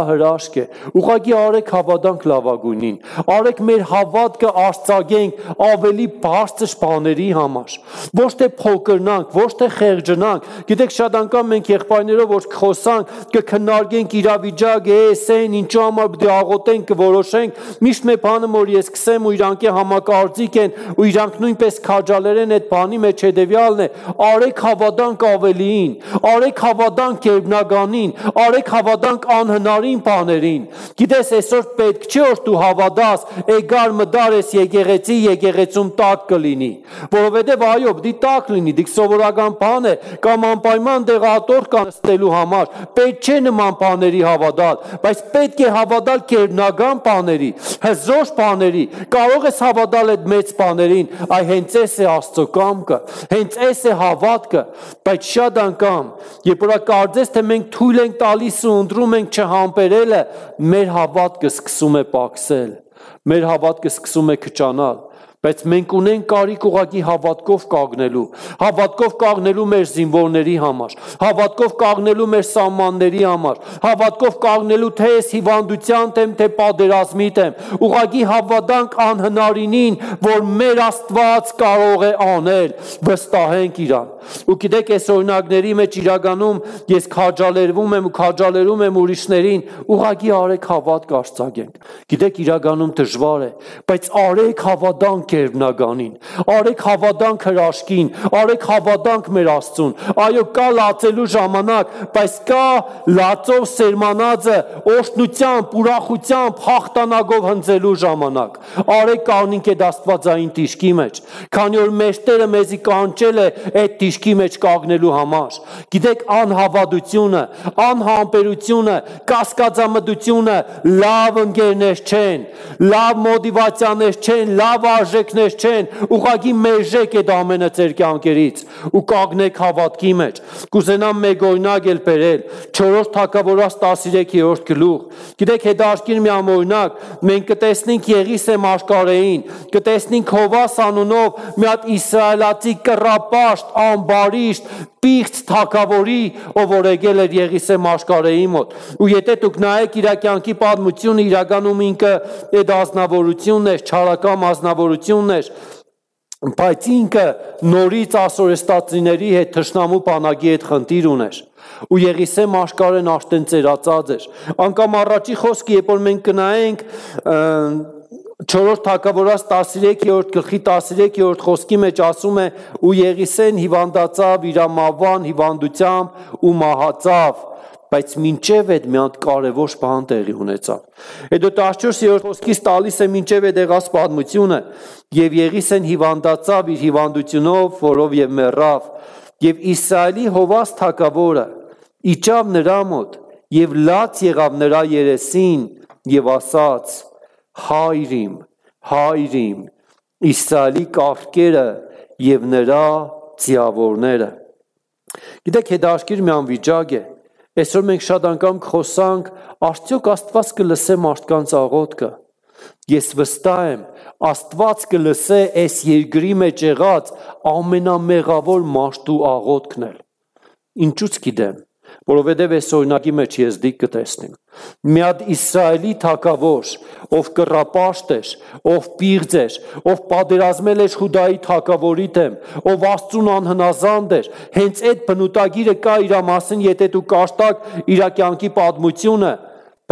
հրաշք է, ուղղակի արեք հավատանք լավագույնին, արեք մեր հավատքը արծագենք ավելի բարձր բաների համար, ոչ թե փոքրնանք, ոչ թե խեղճնանք։ Գիտեք, շատ անգամ մենք եղբայրներով որ խոսանք, կքննարկենք իրավիճակը, էսեն, ինչու համար պետք է աղոթենք, կորոշենք, միշտ մի բանը որ ես կսեմ ու իրանք համակարծիք են ու իրանք նույնպես քաջալերեն այդ բանի մեջ հետևյալն է, արեք հավատանք ավելիին, արեք հավատանք գերբնականին, արեք հավատանք անհնարին բաներին։ Գիտես, այսօր պետք չէ որ դու հավատաս, էգար մդար ես եկեղեցի, եկեղեցում տակ կլինի, որովհետև այո, դի տակ լինի, դիք սովորական բան է, կամ անպայման դեղատոր կան ստելու համար, պետք չէ նման բաների հավատալ, բայց պետք է հավատալ գերբնական բաների, հզոր բաների, կարող ես հավատալ այդ մեծ բաներին, այ հենց էս է Աստծո կամքը, հենց էս է հավատքը, բայց շատ անգամ, երբ որ կարծես թե մենք թույլ ենք տալիս ու ընտրում ենք չհամբերելը, մեր հավատքը սկսում է պակսել, մեր հավատքը սկսում է քչանալ, բայց մենք ունենք կարիք ուղղակի հավատքով կանգնելու մեր զինվորների համար, հավատքով կանգնելու մեր սահմանների համար, հավատքով կանգնելու թե այս հիվանդության դեմ, թե պատերազմի դեմ, ուղղակի հավատանք անհնարինին, որ մեր Աստված կարող է անել, վստահենք իրան։ Ու գիտեք, այս օրինակների մեջ իրականում ես քաջալերում եմ ուրիշներին, ուղղակի արեք հավատք արծագենք։ Գիտեք, իրականում դժվար է, բայց արեք հավատանք գերբնականին, արեք հավատանք հրաշքին, արեք հավատանք մեր Աստծուն, այո կա լացելու ժամանակ, բայց կա լացով սերմանածը օրհնությամբ, ուրախությամբ, հաղթանակով հնձելու ժամանակ, արեք կանգնենք այդ աստվածային տիշկի մեջ, քանի որ մեր Տերը մեզի կանչել է այդ տիշկի մեջ կանգնելու համար, գիտեք անհավատությունը, անհամբերությունը, կասկածամտությունը լավ ընկերներ չեն, լավ մոտիվացիաներ չեն, լավ արժեքներ չեն, ուղղակի մերժեք այդ ամենը ձեր կյանքերից ու կանգնեք հավատքի մեջ։ Կուզենամ մեկ օրինակ էլ բերել 4 Թագավորաց 13-րդ գլուխ։ Գիտեք հետաքրքիր մի օրինակ, մենք կտեսնենք Եղիսե մարգարեին, կտեսնենք Հովաս անունով մի հատ իսրայելացի կռապաշտ, ամբարիշտ, պիղծ թագավորի, ով որ եկել էր Եղիսե մարգարեի մոտ։ Ու եթե դուք նայեք իր կյանքի պատմությունը, իրականում ինքը այդ ազնվորությունն էր, չարական ազնվորությունն էր, բայց ինքը նորից ասորեստացիների հետ թշնամու բանակի հետ խնդիր ուներ։ Ու Եղիսե մարգարեն արդեն ծերացած էր։ Անկամ առաջի խոսքը, երբ որ մենք կնայենք 4 Թագավորաց 13-րդ գլխի 13-րդ խոսքի մեջ ասում է ու Եղիսեն հիվանդացավ իրամավան հիվանդությամբ ու մահացավ, բայց մինչև այդ մի հատ կարևոր բան տեղի ունեցավ։ Հետո 14-րդ խոսքից տալիս է մինչև այդ եղած պատմությունը, եւ Եղիսեն հիվանդացավ իր հիվանդությունով, որով եւ մեռավ, եւ Իսրայելի Հովաս թագավորը իջավ նրա մոտ եւ լաց եղավ նրա երեսին եւ ասաց. Հայրիմ, հայրիմ, Իսրայելի կառքերը եւ նրա ձիավորները։ Գիտեք, հետաքրքիր մի անվիճակ է։ Այսօր մենք շատ անգամ խոսանք, արդյոք Աստված կլսե մարդկանց աղոթքը։ Ես վստահ եմ, Աստված կլսե այս երկրի մեջ եղած ամենամեղավոր մարդու աղոթքն էլ։ Ինչու՞ց գիտեմ, որովհետև այս օրինակի մեջ ես դիք կտեսնեմ։ Մի հատ Իսրայելի թագավոր, ով կռապաշտ էր, ով պիղծ էր, ով պատերազմել էր Հուդայի թագավորի դեմ, ով Աստծուն անհնազանդ էր, հենց այդ բնութագիրը կա իր մասին, եթե դու կարդաք իր կյանքի պատմությունը,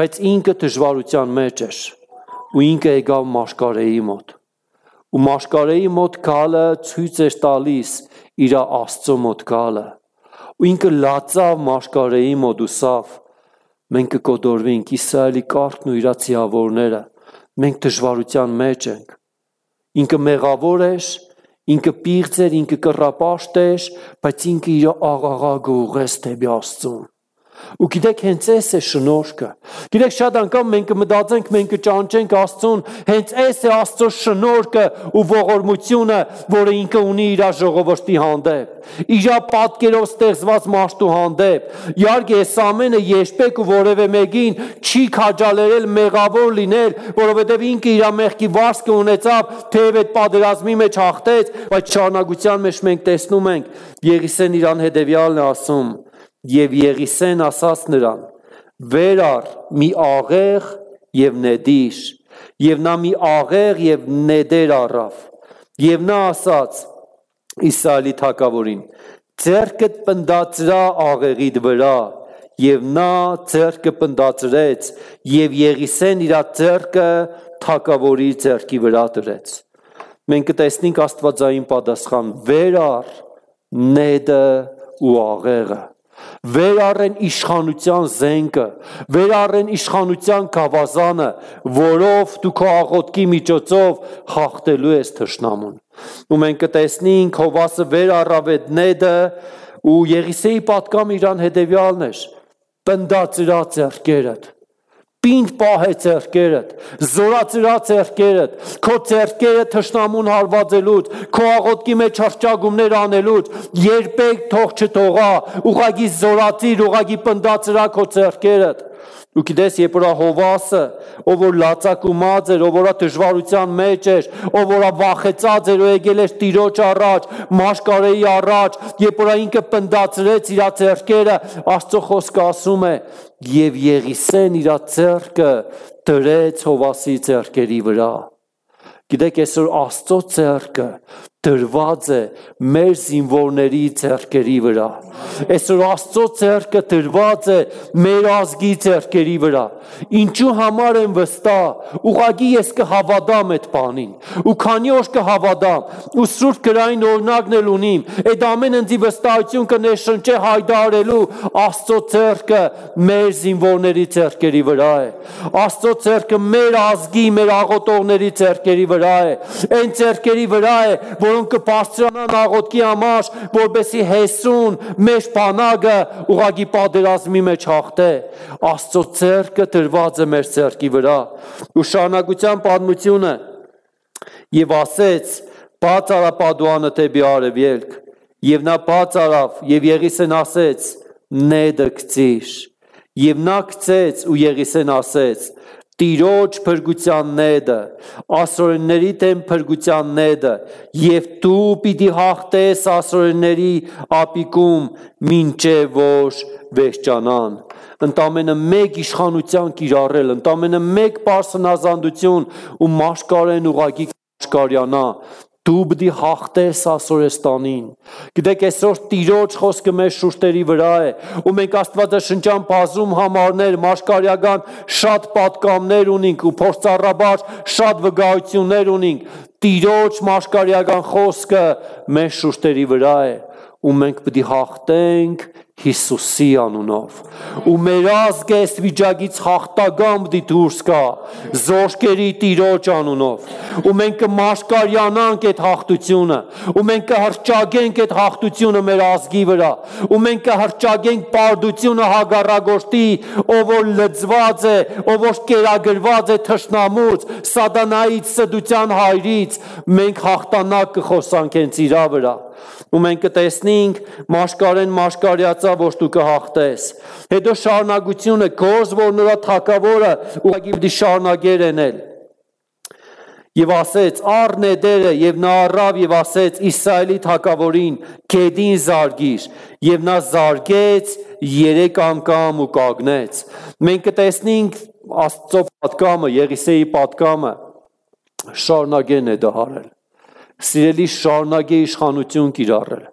բայց ինքը դժվարության մեջ էր, ու ինքը եկավ մարգարեի մոտ, ու մարգարեի մոտ գալը ցույց էր տալիս իր Աստծո մոտ գալը, ու ինքը լացավ մարգարեի մոտ ու սավ, մենք կկոտորվենք Իսրայելի կառքն ու իր ձիավորները, մենք դժվարության մեջ ենք, ինքը մեղավոր էր, ինքը պիղծ էր, ինքը կռապաշտ էր, բայց ինքը իր աղաղակը ուղղեց դեպի Աստծուն։ Ու գիտեք, հենց այս է շնորհքը։ Գիտեք, շատ անգամ մենք կմտածենք, մենք կճանչենք Աստծուն, հենց այս է Աստծո շնորհքը ու ողորմությունը, որը ինքը ունի իր ժողովրդի հանդեպ, իր պատկերով ստեղծված մարդու հանդեպ։ Իհարկե, այս ամենը երբեք ու որևէ մեկին չի քաջալերել մեղավոր լինել, որովհետև ինքը իր մեղքի վարձքը ունեցավ, թեև այդ պատերազմի մեջ հաղթեց, բայց շարունակության մեջ մենք տեսնում ենք, Եղիսեն իրան հետևյալն է ասում. Եվ Եղիսեն ասաց նրան. վեր առ մի աղեղ եւ նեդիր, եւ նա մի աղեղ եւ նեդեր առավ, եւ նա ասաց Իսրայելի թագավորին. ձեռքդ պնդացրա աղեղիդ վրա, եւ նա ձեռքը պնդացրեց, եւ Եղիսեն իր ձեռքը թագավորի ձեռքի վրա դրեց։ Մենք կտեսնենք աստվածային պատասխան. վեր առ նեդը ու աղեղը, վեր առեն իշխանության զենքը, վեր առեն իշխանության գավազանը, որով դու քո աղոթքի միջոցով հաղթելու ես թշնամուն։ Ու մենք կտեսնենք Հովասը վեր առավ այդ նեդը, ու Եղիսեի պատկամը իրան հետևյալն էր. պնդացրա ձեռքերդ, պինդ պահե ձեռքերդ, զորացրա ձեռքերդ, քո ձեռքերը թշնամուն հարվածելուց, քո աղոթքի մեջ հռչակումներ անելուց, երբեք թող չթողա, ուղղակի զորացիր, ուղղակի պնդացրա քո ձեռքերդ։ Ու գիտես, երբ որ Հովասը, ով որ լացակումած էր, ով որ դժվարության մեջ էր, ով որ վախեցած էր ու եկել էր Տիրոջ առաջ, մարգարեի առաջ, երբ որ ինքը պնդացրեց իր ձեռքերը, Աստծո խոսքը ասում է. եւ Եղիսեն իր ձեռքը դրեց Հովասի ձեռքերի վրա։ Գիտեք, այսօր Աստծո ձեռքը դրված է մեր զինվորների ձեռքերի վրա։ Այսօր Աստծո ձեռքը դրված է մեր ազգի ձեռքերի վրա։ Ինչու համար եմ վստահ, ուղղակի ես կհավատամ այդ բանին։ Ու քանի օր կհավատամ, ու Սուրբ գրային օրինակն էլ ունիմ, այդ ամեն ընձի վստահություն կներշնչե հայտարարելու Աստծո ձեռքը մեր զինվորների ձեռքերի վրա է։ Աստծո ձեռքը մեր ազգի, մեր աղոթողների ձեռքերի վրա է։ Այն ձեռքերի վրա է, որոնք կբարձրանան աղոթքի համար, որպեսզի հեսուն մեր բանակը ուղղակի պատերազմի մեջ հաղթե։ Աստծո ձեռքը դրված է մեր ձեռքի վրա։ Ու շարունակության պատմությունը եւ ասեց. բաց արա Պադուանը դեպի արևելք, եւ նա բաց արավ, եւ Եղիսեն ասեց. նեդը գցիր, եւ նա գցեց, ու Եղիսեն ասեց. Տիրոջ փրկության նեդը, ասորենների դեմ փրկության նեդը, եւ դու պիտի հաղթես ասորենների ապիկում, մինչեւ որ վերջանան։ Ընդամենը մեկ իշխանության կիրառել, ընդամենը մեկ պարսնազանդություն ու մաշկարեն ուղղակի մաշկարյանա։ Դու պիտի հաղթես Ասորեստանին։ Գիտեք, այսօր Տիրոջ խոսքը մեր շուրթերի վրա է, ու մենք Աստվածաշնչյան բազում համարներ, մաշկարյական շատ պատկամներ ունենք ու փորձառաբար շատ վկայություններ ունենք։ Տիրոջ մաշկարյական խոսքը մեր շուրթերի վրա է, ու մենք պիտի հաղթենք Հիսուսի անունով։ Ու մեր ազգը այս վիճակից հաղթական պիտի դուրս գա զորքերի Տիրոջ անունով։ Ու մենք կմաշկարյանանք այդ հաղթությունը, ու մենք կհռչակենք այդ հաղթությունը մեր ազգի վրա, ու մենք կհռչակենք պարտությունը հագարագործի, ով որ լծված է, ով որ կերակրված է թշնամուց, սատանայից, սդության հայրից, մենք հաղթանակ կխոսանք հենց իրա վրա։ Ու մենք կտեսնենք մաշկարեն մաշկարյացա, որ դու կհաղթես։ Հետո շարունակությունը գործ, որ նրա թագավորը ուղղակի պիտի շարունակեր էնել։ Եվ ասեց առ նեդերը, եւ նա առավ եւ ասեց Իսրայելի թագավորին գեդին զարգիր, եւ նա զարգեց 3 անգամ ու կանգնեց։ Մենք կտեսնենք Աստծո պատգամը, Եղիսեի պատգամը շարունակեն է դահարել։ Սիրելի, շարունակե իշխանություն կիրառել,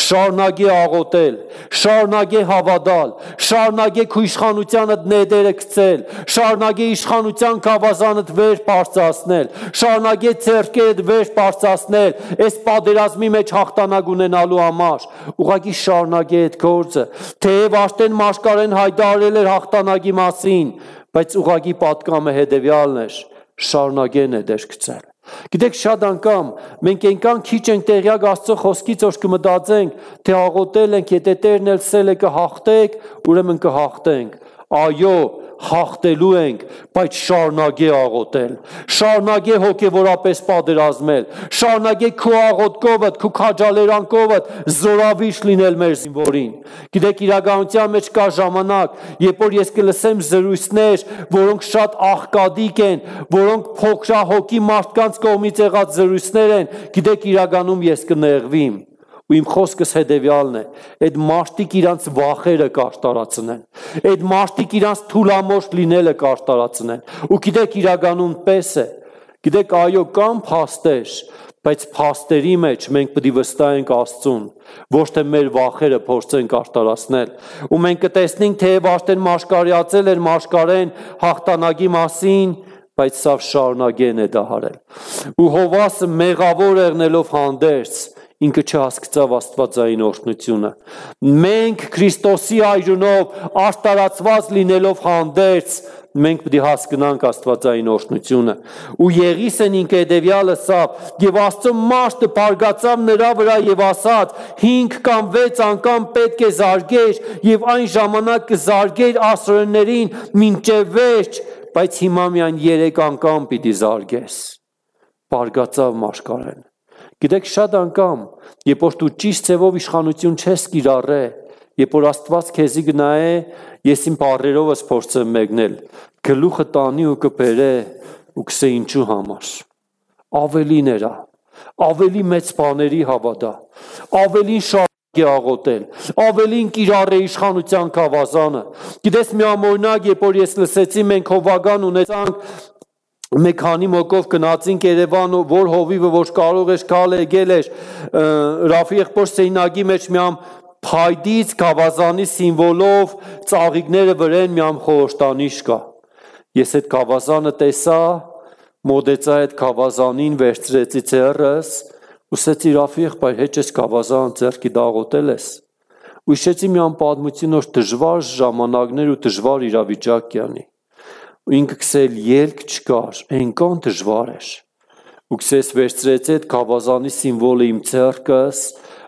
շարունակե աղոթել, շարունակե հավատալ, շարունակե քո իշխանությանդ նետերը գցել, շարունակե իշխանության գավազանդ վեր բարձրացնել, շարունակե ձեռքերդ վեր բարձրացնել, այս պատերազմի մեջ հաղթանակ ունենալու համար, ուղղակի շարունակե այդ գործը, թեև արդեն մաշկարեն հայտարարել էր հաղթանակի մասին, բայց ուղղակի պատկամը հետևյալն էր, շարունակե նետեր գցել։ Գիտեք, շատ անգամ մենք այնքան քիչ ենք տեղյակ Աստծո խոսքից, որ կմտածենք, թե աղոթել ենք, եթե Տերն էլ սել է կհաղթեք, ուրեմն կհաղթենք։ Այո, հաղթելու ենք, բայց շարունակե աղոթել, շարունակե հոգևորապես պատերազմել, շարունակե քո աղոթքովդ, քո քաջալերանքովդ զորավիժ լինել մեր զինվորին։ Գիտեք, իրականության մեջ կա ժամանակ, երբ որ ես կլսեմ զրույցներ, որոնք շատ աղքատիկ են, որոնք փոքրահոգի մարդկանց կողմից եղած զրույցներ են, գիտեք, իրականում ես կնեղվիմ։ Ու իմ խոսքս հետևյալն է, այդ մարդիկ իրանց վախերը կարտարացնեն, այդ մարդիկ իրանց թուլամորթ լինելը կարտարացնեն, ու գիտեք, իրականում պես է, գիտեք, այո, կան փաստեր, բայց փաստերի մեջ մենք պետք է վստահենք Աստծուն, ոչ թե մեր վախերը փորձենք արտարացնել, ու մենք կտեսնենք, թեև արդեն մաշկարյացել էր մաշկարեն հաղթանակի մասին, բայց սա շարունակեն է դահարել։ Ու Հովասը մեղավոր եղնելով հանդերձ ինքը չհասկացավ Աստվածային օրհնությունը։ Մենք Քրիստոսի այրունով արտարացված լինելով հանդերձ, մենք պետք է հասկանանք Աստվածային օրհնությունը։ Ու Եղիսեն ինքը հետևյալը ասավ, եւ Աստծո մարդը բարգացավ նրա վրա եւ ասաց. 5 կամ 6 անգամ պետք է զարգեր, եւ այն ժամանակ կզարգեր ասորեններին մինչեւ վերջ, բայց հիմա միայն 3 անգամ պիտի զարգես։ Բարգացավ մաշկարեն։ Գիտեք, շատ անգամ, երբ որ դու ճիշտ ձևով իշխանություն չես կիրառե, երբ որ Աստված քեզի գնայե, ես իմ բառերովս փորձեմ մեկնել, գլուխը տանի ու կբերե ու կսե ինչու համար։ Ավելին էրա, ավելի մեծ բաների հավատա, ավելին շարունակե աղոթել, ավելին կիրառե իշխանության գավազանը։ Գիտես, մի ամօրինակ, երբ որ ես լսեցի, մենք հովական ունեցանք մեկ քանի մոկով գնացինք Երևան, որ հովիվը որ կարող էր կալ եկել էր Ռաֆի եղբոր սեյնագի մեջ միամ փայդից գավազանի սիմվոլով ծաղիկները վրեն միամ խորհրդանիշ կա։ Ես այդ գավազանը տեսա, մոդեցա այդ գավազանին վերցրեցի ձեռս, ուսեցի Ռաֆի եղբայր հեչ ես գավազան ձեռքի դաղոտել ես։ Ու հիշեցի միամ պատմություն որ դժվար ժամանակներ ու դժվար իրավիճակ կյանի։ Ու ինքը քսել ելք չկար, այնքան դժվար էր։ Ու քսես վերցրեց այդ գավազանի սիմվոլը իմ ձեռքս,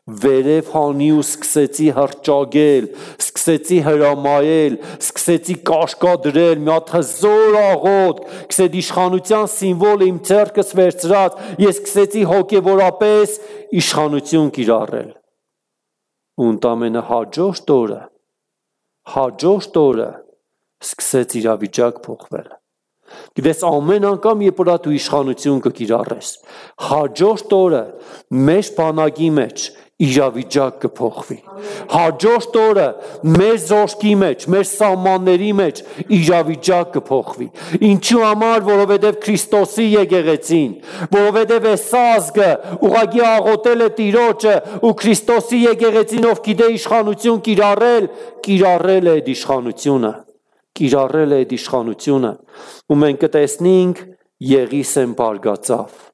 վերև հանի ու սկսեցի հրճագել, սկսեցի հրամայել, սկսեցի կաշկա դրել, մի հատ հզոր աղոտ, քսեդ իշխանության սիմվոլը իմ ձեռքս վերցրած, ես սկսեցի հոգևորապես իշխանություն կիրառել։ Ու ընդամենը հաջորդ օրը սկսեց իրավիճակ փոխվել։ Գիտես ամեն անգամ երբ որ դու իշխանություն կկիրառես, հաջորդ օրը մեր բանակի մեջ իրավիճակ կփոխվի։ Հաջորդ օրը մեր զորքի մեջ, մեր սահմանների մեջ իրավիճակ կփոխվի։ Ինչու համար, որովհետև Քրիստոսի եկեղեցին, որովհետև այս ազգը ուղղակի աղոթել է Տիրոջը ու Քրիստոսի եկեղեցին ով գիտե իշխանություն կիրառել է այդ իշխանությունը։ Կիրառել է այդ իշխանությունը ու մենք կտեսնենք Եղիսեն բարգացավ։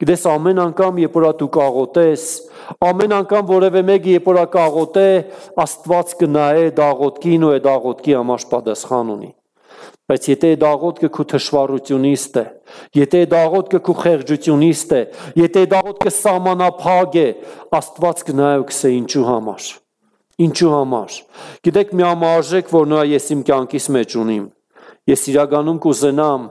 Գիտես ամեն անգամ երբ որ դու կաղոթես, ամեն անգամ որևէ մեկը երբ որ կաղոթե, Աստված կնայե այդ աղոթքին ու այդ աղոթքի համար պատասխան ունի։ Բայց եթե այդ աղոթքը քո թշվառությունից է, եթե այդ աղոթքը քո խեղճությունից է, եթե այդ աղոթքը սահմանափակ է, Աստված կնայե ու կսե ինչու համար։ Ինչու համար։ Գիտեք մի համարժեք որ նույն ես իմ կյանքիս մեջ ունիմ։ Ես իրականում կուզենամ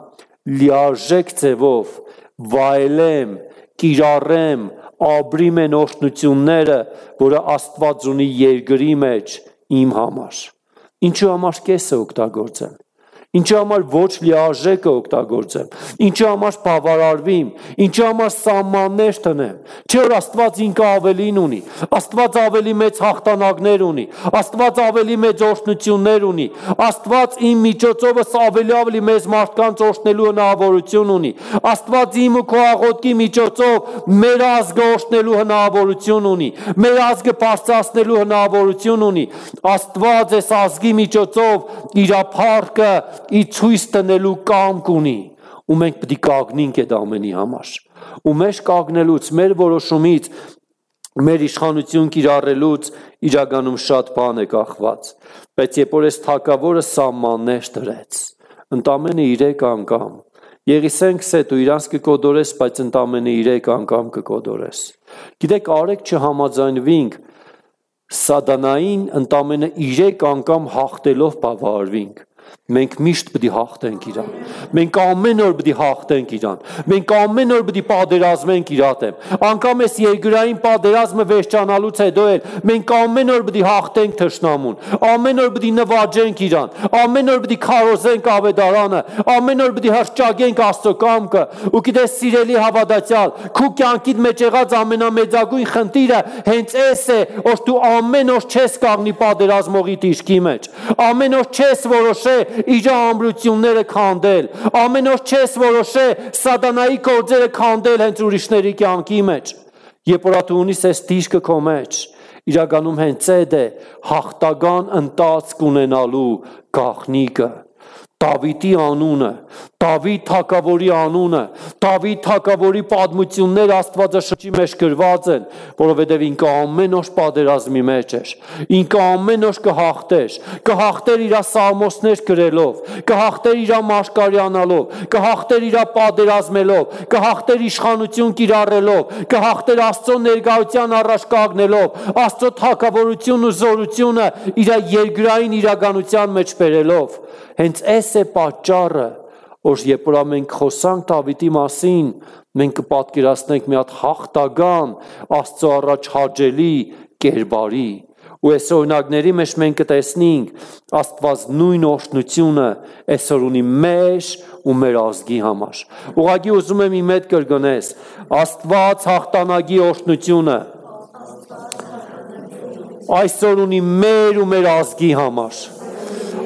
լիարժեք ձևով վայելեմ, կիրառեմ, ապրիմ են օրհնությունները, որը Աստված ունի երկրի մեջ իմ համար։ Ինչու համար կեսը օգտագործեմ։ Ինչու համար ոչ լիարժեքը օգտագործեմ, ինչու համար բավարարվիմ, ինչու համար սահմաններ տնեմ, չէ որ Աստված ինքը ավելին ունի, Աստված ավելի մեծ հաղթանակներ ունի, Աստված ավելի մեծ օրհնություններ ունի, Աստված իմ միջոցովս ավելի մեծ մարդկանց օրհնելու հնարավորություն ունի, Աստված իմ ու քո աղոթքի միջոցով մեր ազգը օրհնելու հնարավորություն ունի, մեր ազգը բարձրացնելու հնարավորություն ունի, Աստված այս ազգի միջոցով իր փառքը ի ցույց տնելու կամք ունի ու մենք պետք է կանգնենք այդ ամենի համար ու մեր կանգնելուց մեր որոշումից մեր իշխանություն կիրառելուց իրականում շատ բան է կախված բայց երբ որ այս թագավորը սահմաններ դրեց ընդամենը 3 անգամ Եղիսեն քսե դու իրանց կկոդորես բայց ընդամենը 3 անգամ կկոդորես գիտեք արեք չհամաձայնվենք սատանային ընդամենը 3 անգամ հաղթելով բավարարվենք Մենք միշտ պետք է հաղթենք իրան։ Մենք ամեն օր պետք է հաղթենք իրան։ Մենք ամեն օր պետք է պատերազմենք իր դեմ։ Անկամ այս երկրային պատերազմը վերջանալուց հետո էլ մենք ամեն օր պետք է հաղթենք թշնամուն։ Ամեն օր պետք է նվաճենք իրան։ Ամեն օր պետք է քարոզենք ավետարանը։ Ամեն օր պետք է հրճագենք Աստծո կամքը։ Ու գիտես սիրելի հավատացյալ, քո կյանքիդ մեջ եղած ամենամեծագույն խնդիրը հենց այս է, որ դու ամեն օր չես կանգնի պատերազմողի դիրքի մեջ։ Ամեն օր չես որոշել իր ամրությունները քանդել ամեն օր չես որոշե սատանայի գործերը քանդել հենց ուրիշների կյանքի մեջ երբ որ դու ունիս այս դիրքը քո մեջ իրականում հենց այդ է հաղթական ընթացք ունենալու գաղտնիքը Դավիթի անունը, Դավիթ թագավորի անունը, Դավիթ թագավորի պատմությունները Աստվածաշնչի մեջ գրված են, որովհետև ինքը ամեն օր պատերազմի մեջ էր։ Ինքը ամեն օր կհաղթեր իր սաղմոսներ գրելով, կհաղթեր իր մարգարյանալով, կհաղթեր իր պատերազմելով, կհաղթեր իշխանություն կիրառելով, կհաղթեր Աստծո ներկայության առաջ կանգնելով, Աստծո թագավորությունն ու զորությունը իր երկրային իրականության մեջ բերելով։ Հենց այս է պատճառը, որ երբ որ մենք խոսանք Դավիթի մասին, մենք կպատկերացնենք մի հատ հաղթական Աստծո առաջ հաճելի կերպարի։ Ու այս օրինակների մեջ մենք կտեսնենք Աստված նույն օրհնությունը այսօր ունի մեր ու մեր ազգի համար։ Ուղղակի ուզում եմ իմ հետ կրկնես, Աստված հաղթանակի օրհնությունը այսօր ունի մեր ու մեր ազգի համար։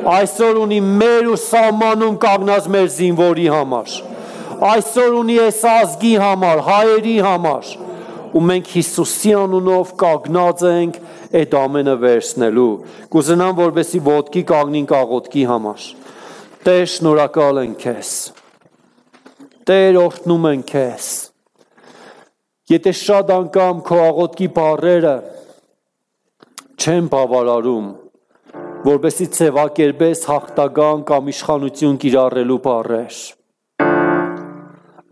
Այսօր ունի մեր ու սահմանում կանգնած մեր զինվորի համար։ այսօր ունի այս ազգի համար, հայերի համար, ու մենք Հիսուսի անունով կանգնած ենք այդ ամենը վերցնելու, կուզենամ, որպեսզի ոտքի կանգնենք աղոթքի համար, Տեր շնորհակալ ենք քեզ, Տեր օրհնում ենք քեզ, եթե շատ անգամ քո աղոթքի բառերը չեն բավարարում, որպեսզի ձևակերպես հաղթական կամ իշխանություն կիրառելու բառեր,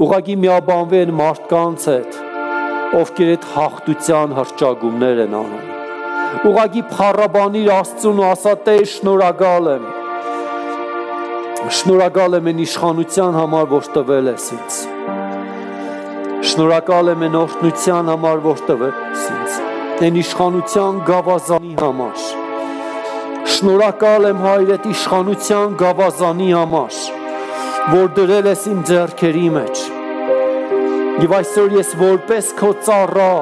ուղղակի միաբանվեն մարդկանց հետ, ովքեր այդ հաղթության հռչակումներ են անում, ուղղակի փառաբանիր Աստծուն ու ասա Տեր շնորհակալ եմ այն իշխանության համար, որ տվել ես ինձ, շնորհակալ եմ այն օրհնության համար, որ տվել ես ինձ, այն իշխանության գավազանի համար, շնորհակալ եմ Հայր այդ իշխանության գավազանի համար, որ դրել ես իմ ձեռքերի մեջ, եւ այսօր ես որպես քո ծառա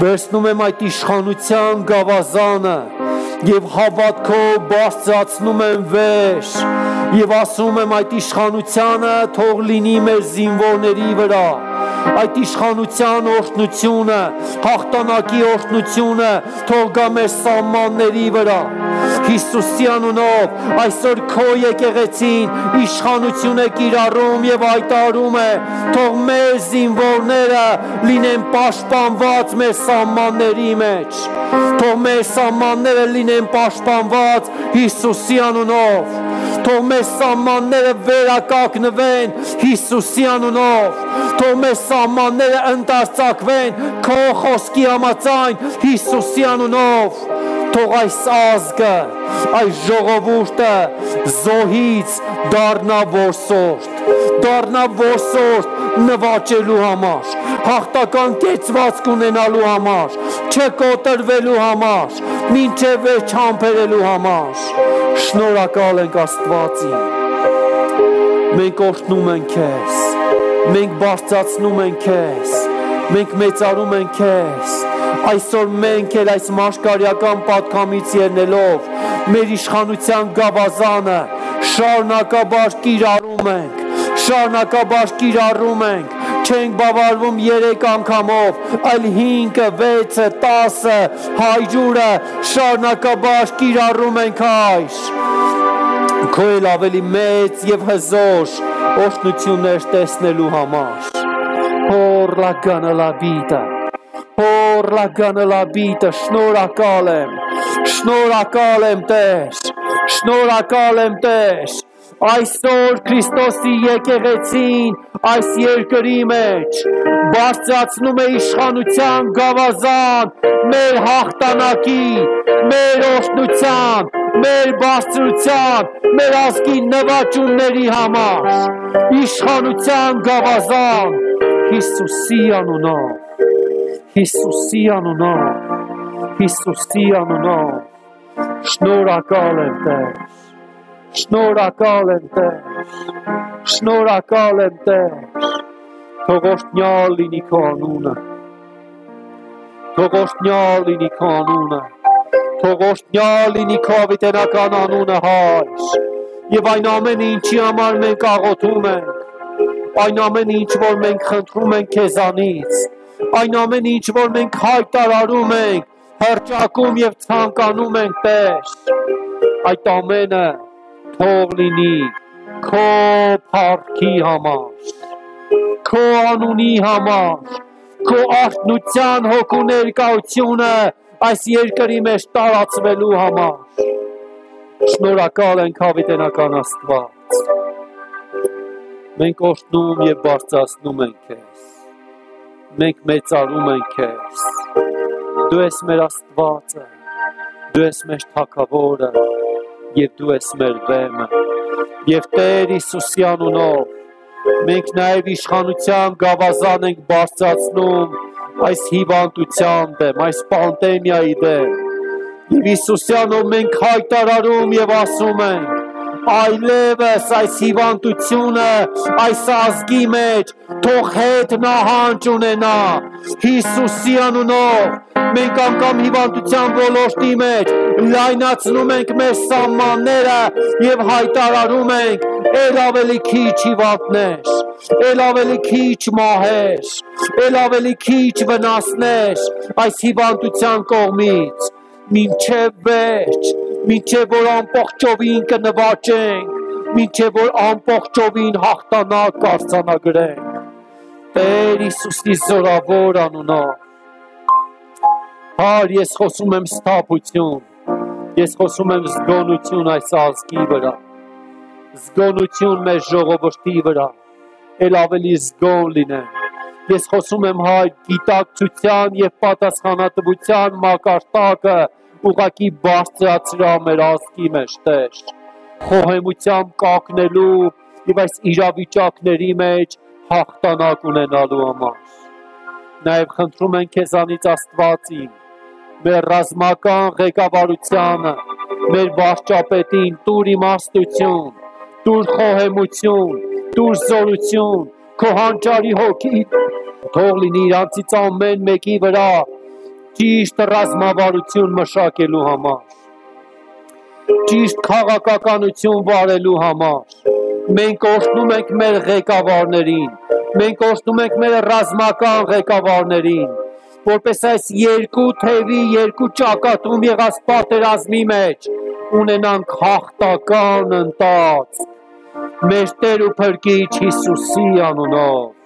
վերցնում եմ այդ իշխանության գավազանը եւ հավատքով բարձրացնում եմ վեր եւ ասում եմ այդ իշխանությանը թող լինի մեր զինվորների վրա, այդ իշխանության օրհնությունը, հաղթանակի օրհնությունը թող գա մեր սահմանների վրա, Հիսուսի անունով այսօր քո եկեղեցին իշխանություն է կիրառում եւ հայտարարում է, թող մեր զինվորները լինեն պաշտպանված մեր սահմանների մեջ, թող մեր սահմանները լինեն պաշտպանված Հիսուսի անունով, թող մեր սահմանները վերականգնվեն Հիսուսի անունով, թող մեր սահմանները ընդարձակվեն քո խոսքի համաձայն Հիսուսի անունով, թող այս ազգը, այս ժողովուրդը զոհից դառնա որսորդ նվաճելու համար, հաղթական կեցվածք ունենալու համար, չկոտրվելու համար, մինչև վերջ համբերելու համար, շնորհակալ ենք Աստվածին, մենք օրհնում ենք քեզ, մենք բարձրացնում ենք քեզ, մենք մեծարում ենք քեզ, այսօր մենք էլ այս մաշկարյական պատգամից ելնելով մեր իշխանության գավազանը շարունակաբար կիրառում ենք, չենք բավարարվում 3 անգամով, այլ 5-ը, 6-ը, 10-ը, 100-ը շարունակաբար կիրառում ենք Հայր, քո էլ ավելի մեծ եւ հզոր օրհնություններ տեսնելու համար, շնորհակալ եմ Տեր, այսօր Քրիստոսի եկեղեցին այս երկրի մեջ բարձրացնում է իշխանության գավազան մեր հաղթանակի, մեր օրհնության, մեր բարձրության, մեր ազգի նվաճումների համար, իշխանության գավազան Հիսուսի անունով, շնորհակալ եմ Տեր, թող օրհնյալ լինի քո անունը, թող օրհնյալ լինի քո ավետարական անունը Հայր, եւ այն ամենը ինչի համար մենք աղոթում ենք, այն ամենը ինչ որ մենք խնդրում ենք քեզանից, այն ամենը ինչ որ մենք հայտարարում ենք, հռչակում եւ ցանկանում ենք Տեր, այդ ամենը թող լինի քո փառքի համար, քո անունի համար, քո արթնության հոգու ներկայությունը այս երկրի մեջ տարածվելու համար, շնորհակալ ենք հավիտենական Աստված, մենք օրհնում եւ բարձրացնում ենք քեզ, մենք մեծարում ենք քեզ, դու ես մեր Աստվածը, դու ես մեր Թագավորը եւ դու ես մեր Վեմը, եւ Տեր Հիսուսի անունով մենք նաեւ իշխանության գավազան ենք բարձրացնում այս հիվանդության դեմ, այս պանդեմիայի դեմ, եւ Հիսուսի անունով մենք հայտարարում եւ ասում ենք, այլևս այս հիվանդությունը այս ազգի մեջ թող հետ նահանջ ունենա Հիսուսի անունով, Մենք անգամ հիվանդության ոլորտի մեջ լայնացնում ենք մեր սահմանները եւ հայտարարում ենք ել ավելի քիչ հիվանդներ, ել ավելի քիչ մահեր, ել ավելի քիչ վնասներ այս հիվանդության կողմից, մինչև վերջ, մինչև որ ամբողջովին կնվաճենք, մինչև որ ամբողջովին հաղթանակ կարձանագրենք, Տեր Հիսուսի զորավոր անունով, Հար, ես խոսում եմ սթափություն, ես խոսում եմ զգոնություն այս ազգի վրա, զգոնություն մեր ժողովրդի վրա, ել ավելի զգոն լինենք, ես խոսում եմ Հայր գիտակցության և պատասխանատվության մակարդակը ուղղակի բարձրացրա մեր ազգի մեջ, Տեր, խոհեմությամբ կակնելու և այս իրավիճակների մեջ հաղթանակ ունենալու համար։ Նաև խնդրում ենք քեզանից Աստված իմ, մեր ռազմական ղեկավարությանը, մեր վարչապետին տուր իմաստություն, տուր խոհեմություն, տուր զորություն, քո հանճարի հոգի, թող լինի իրանցից ամեն մեկի վրա ճիշտ ռազմավարություն մշակելու համար, ճիշտ քաղաքականություն վարելու համար։ Մենք օրհնում ենք մեր ղեկավարներին, մենք օրհնում ենք մեր ռազմական ղեկավարներին, որպես այս երկու թևի, երկու ճակատում եղած պատերազմի մեջ ունենանք հաղթական ընթացք մեր Տեր ու Փրկիչ Հիսուսի անունով։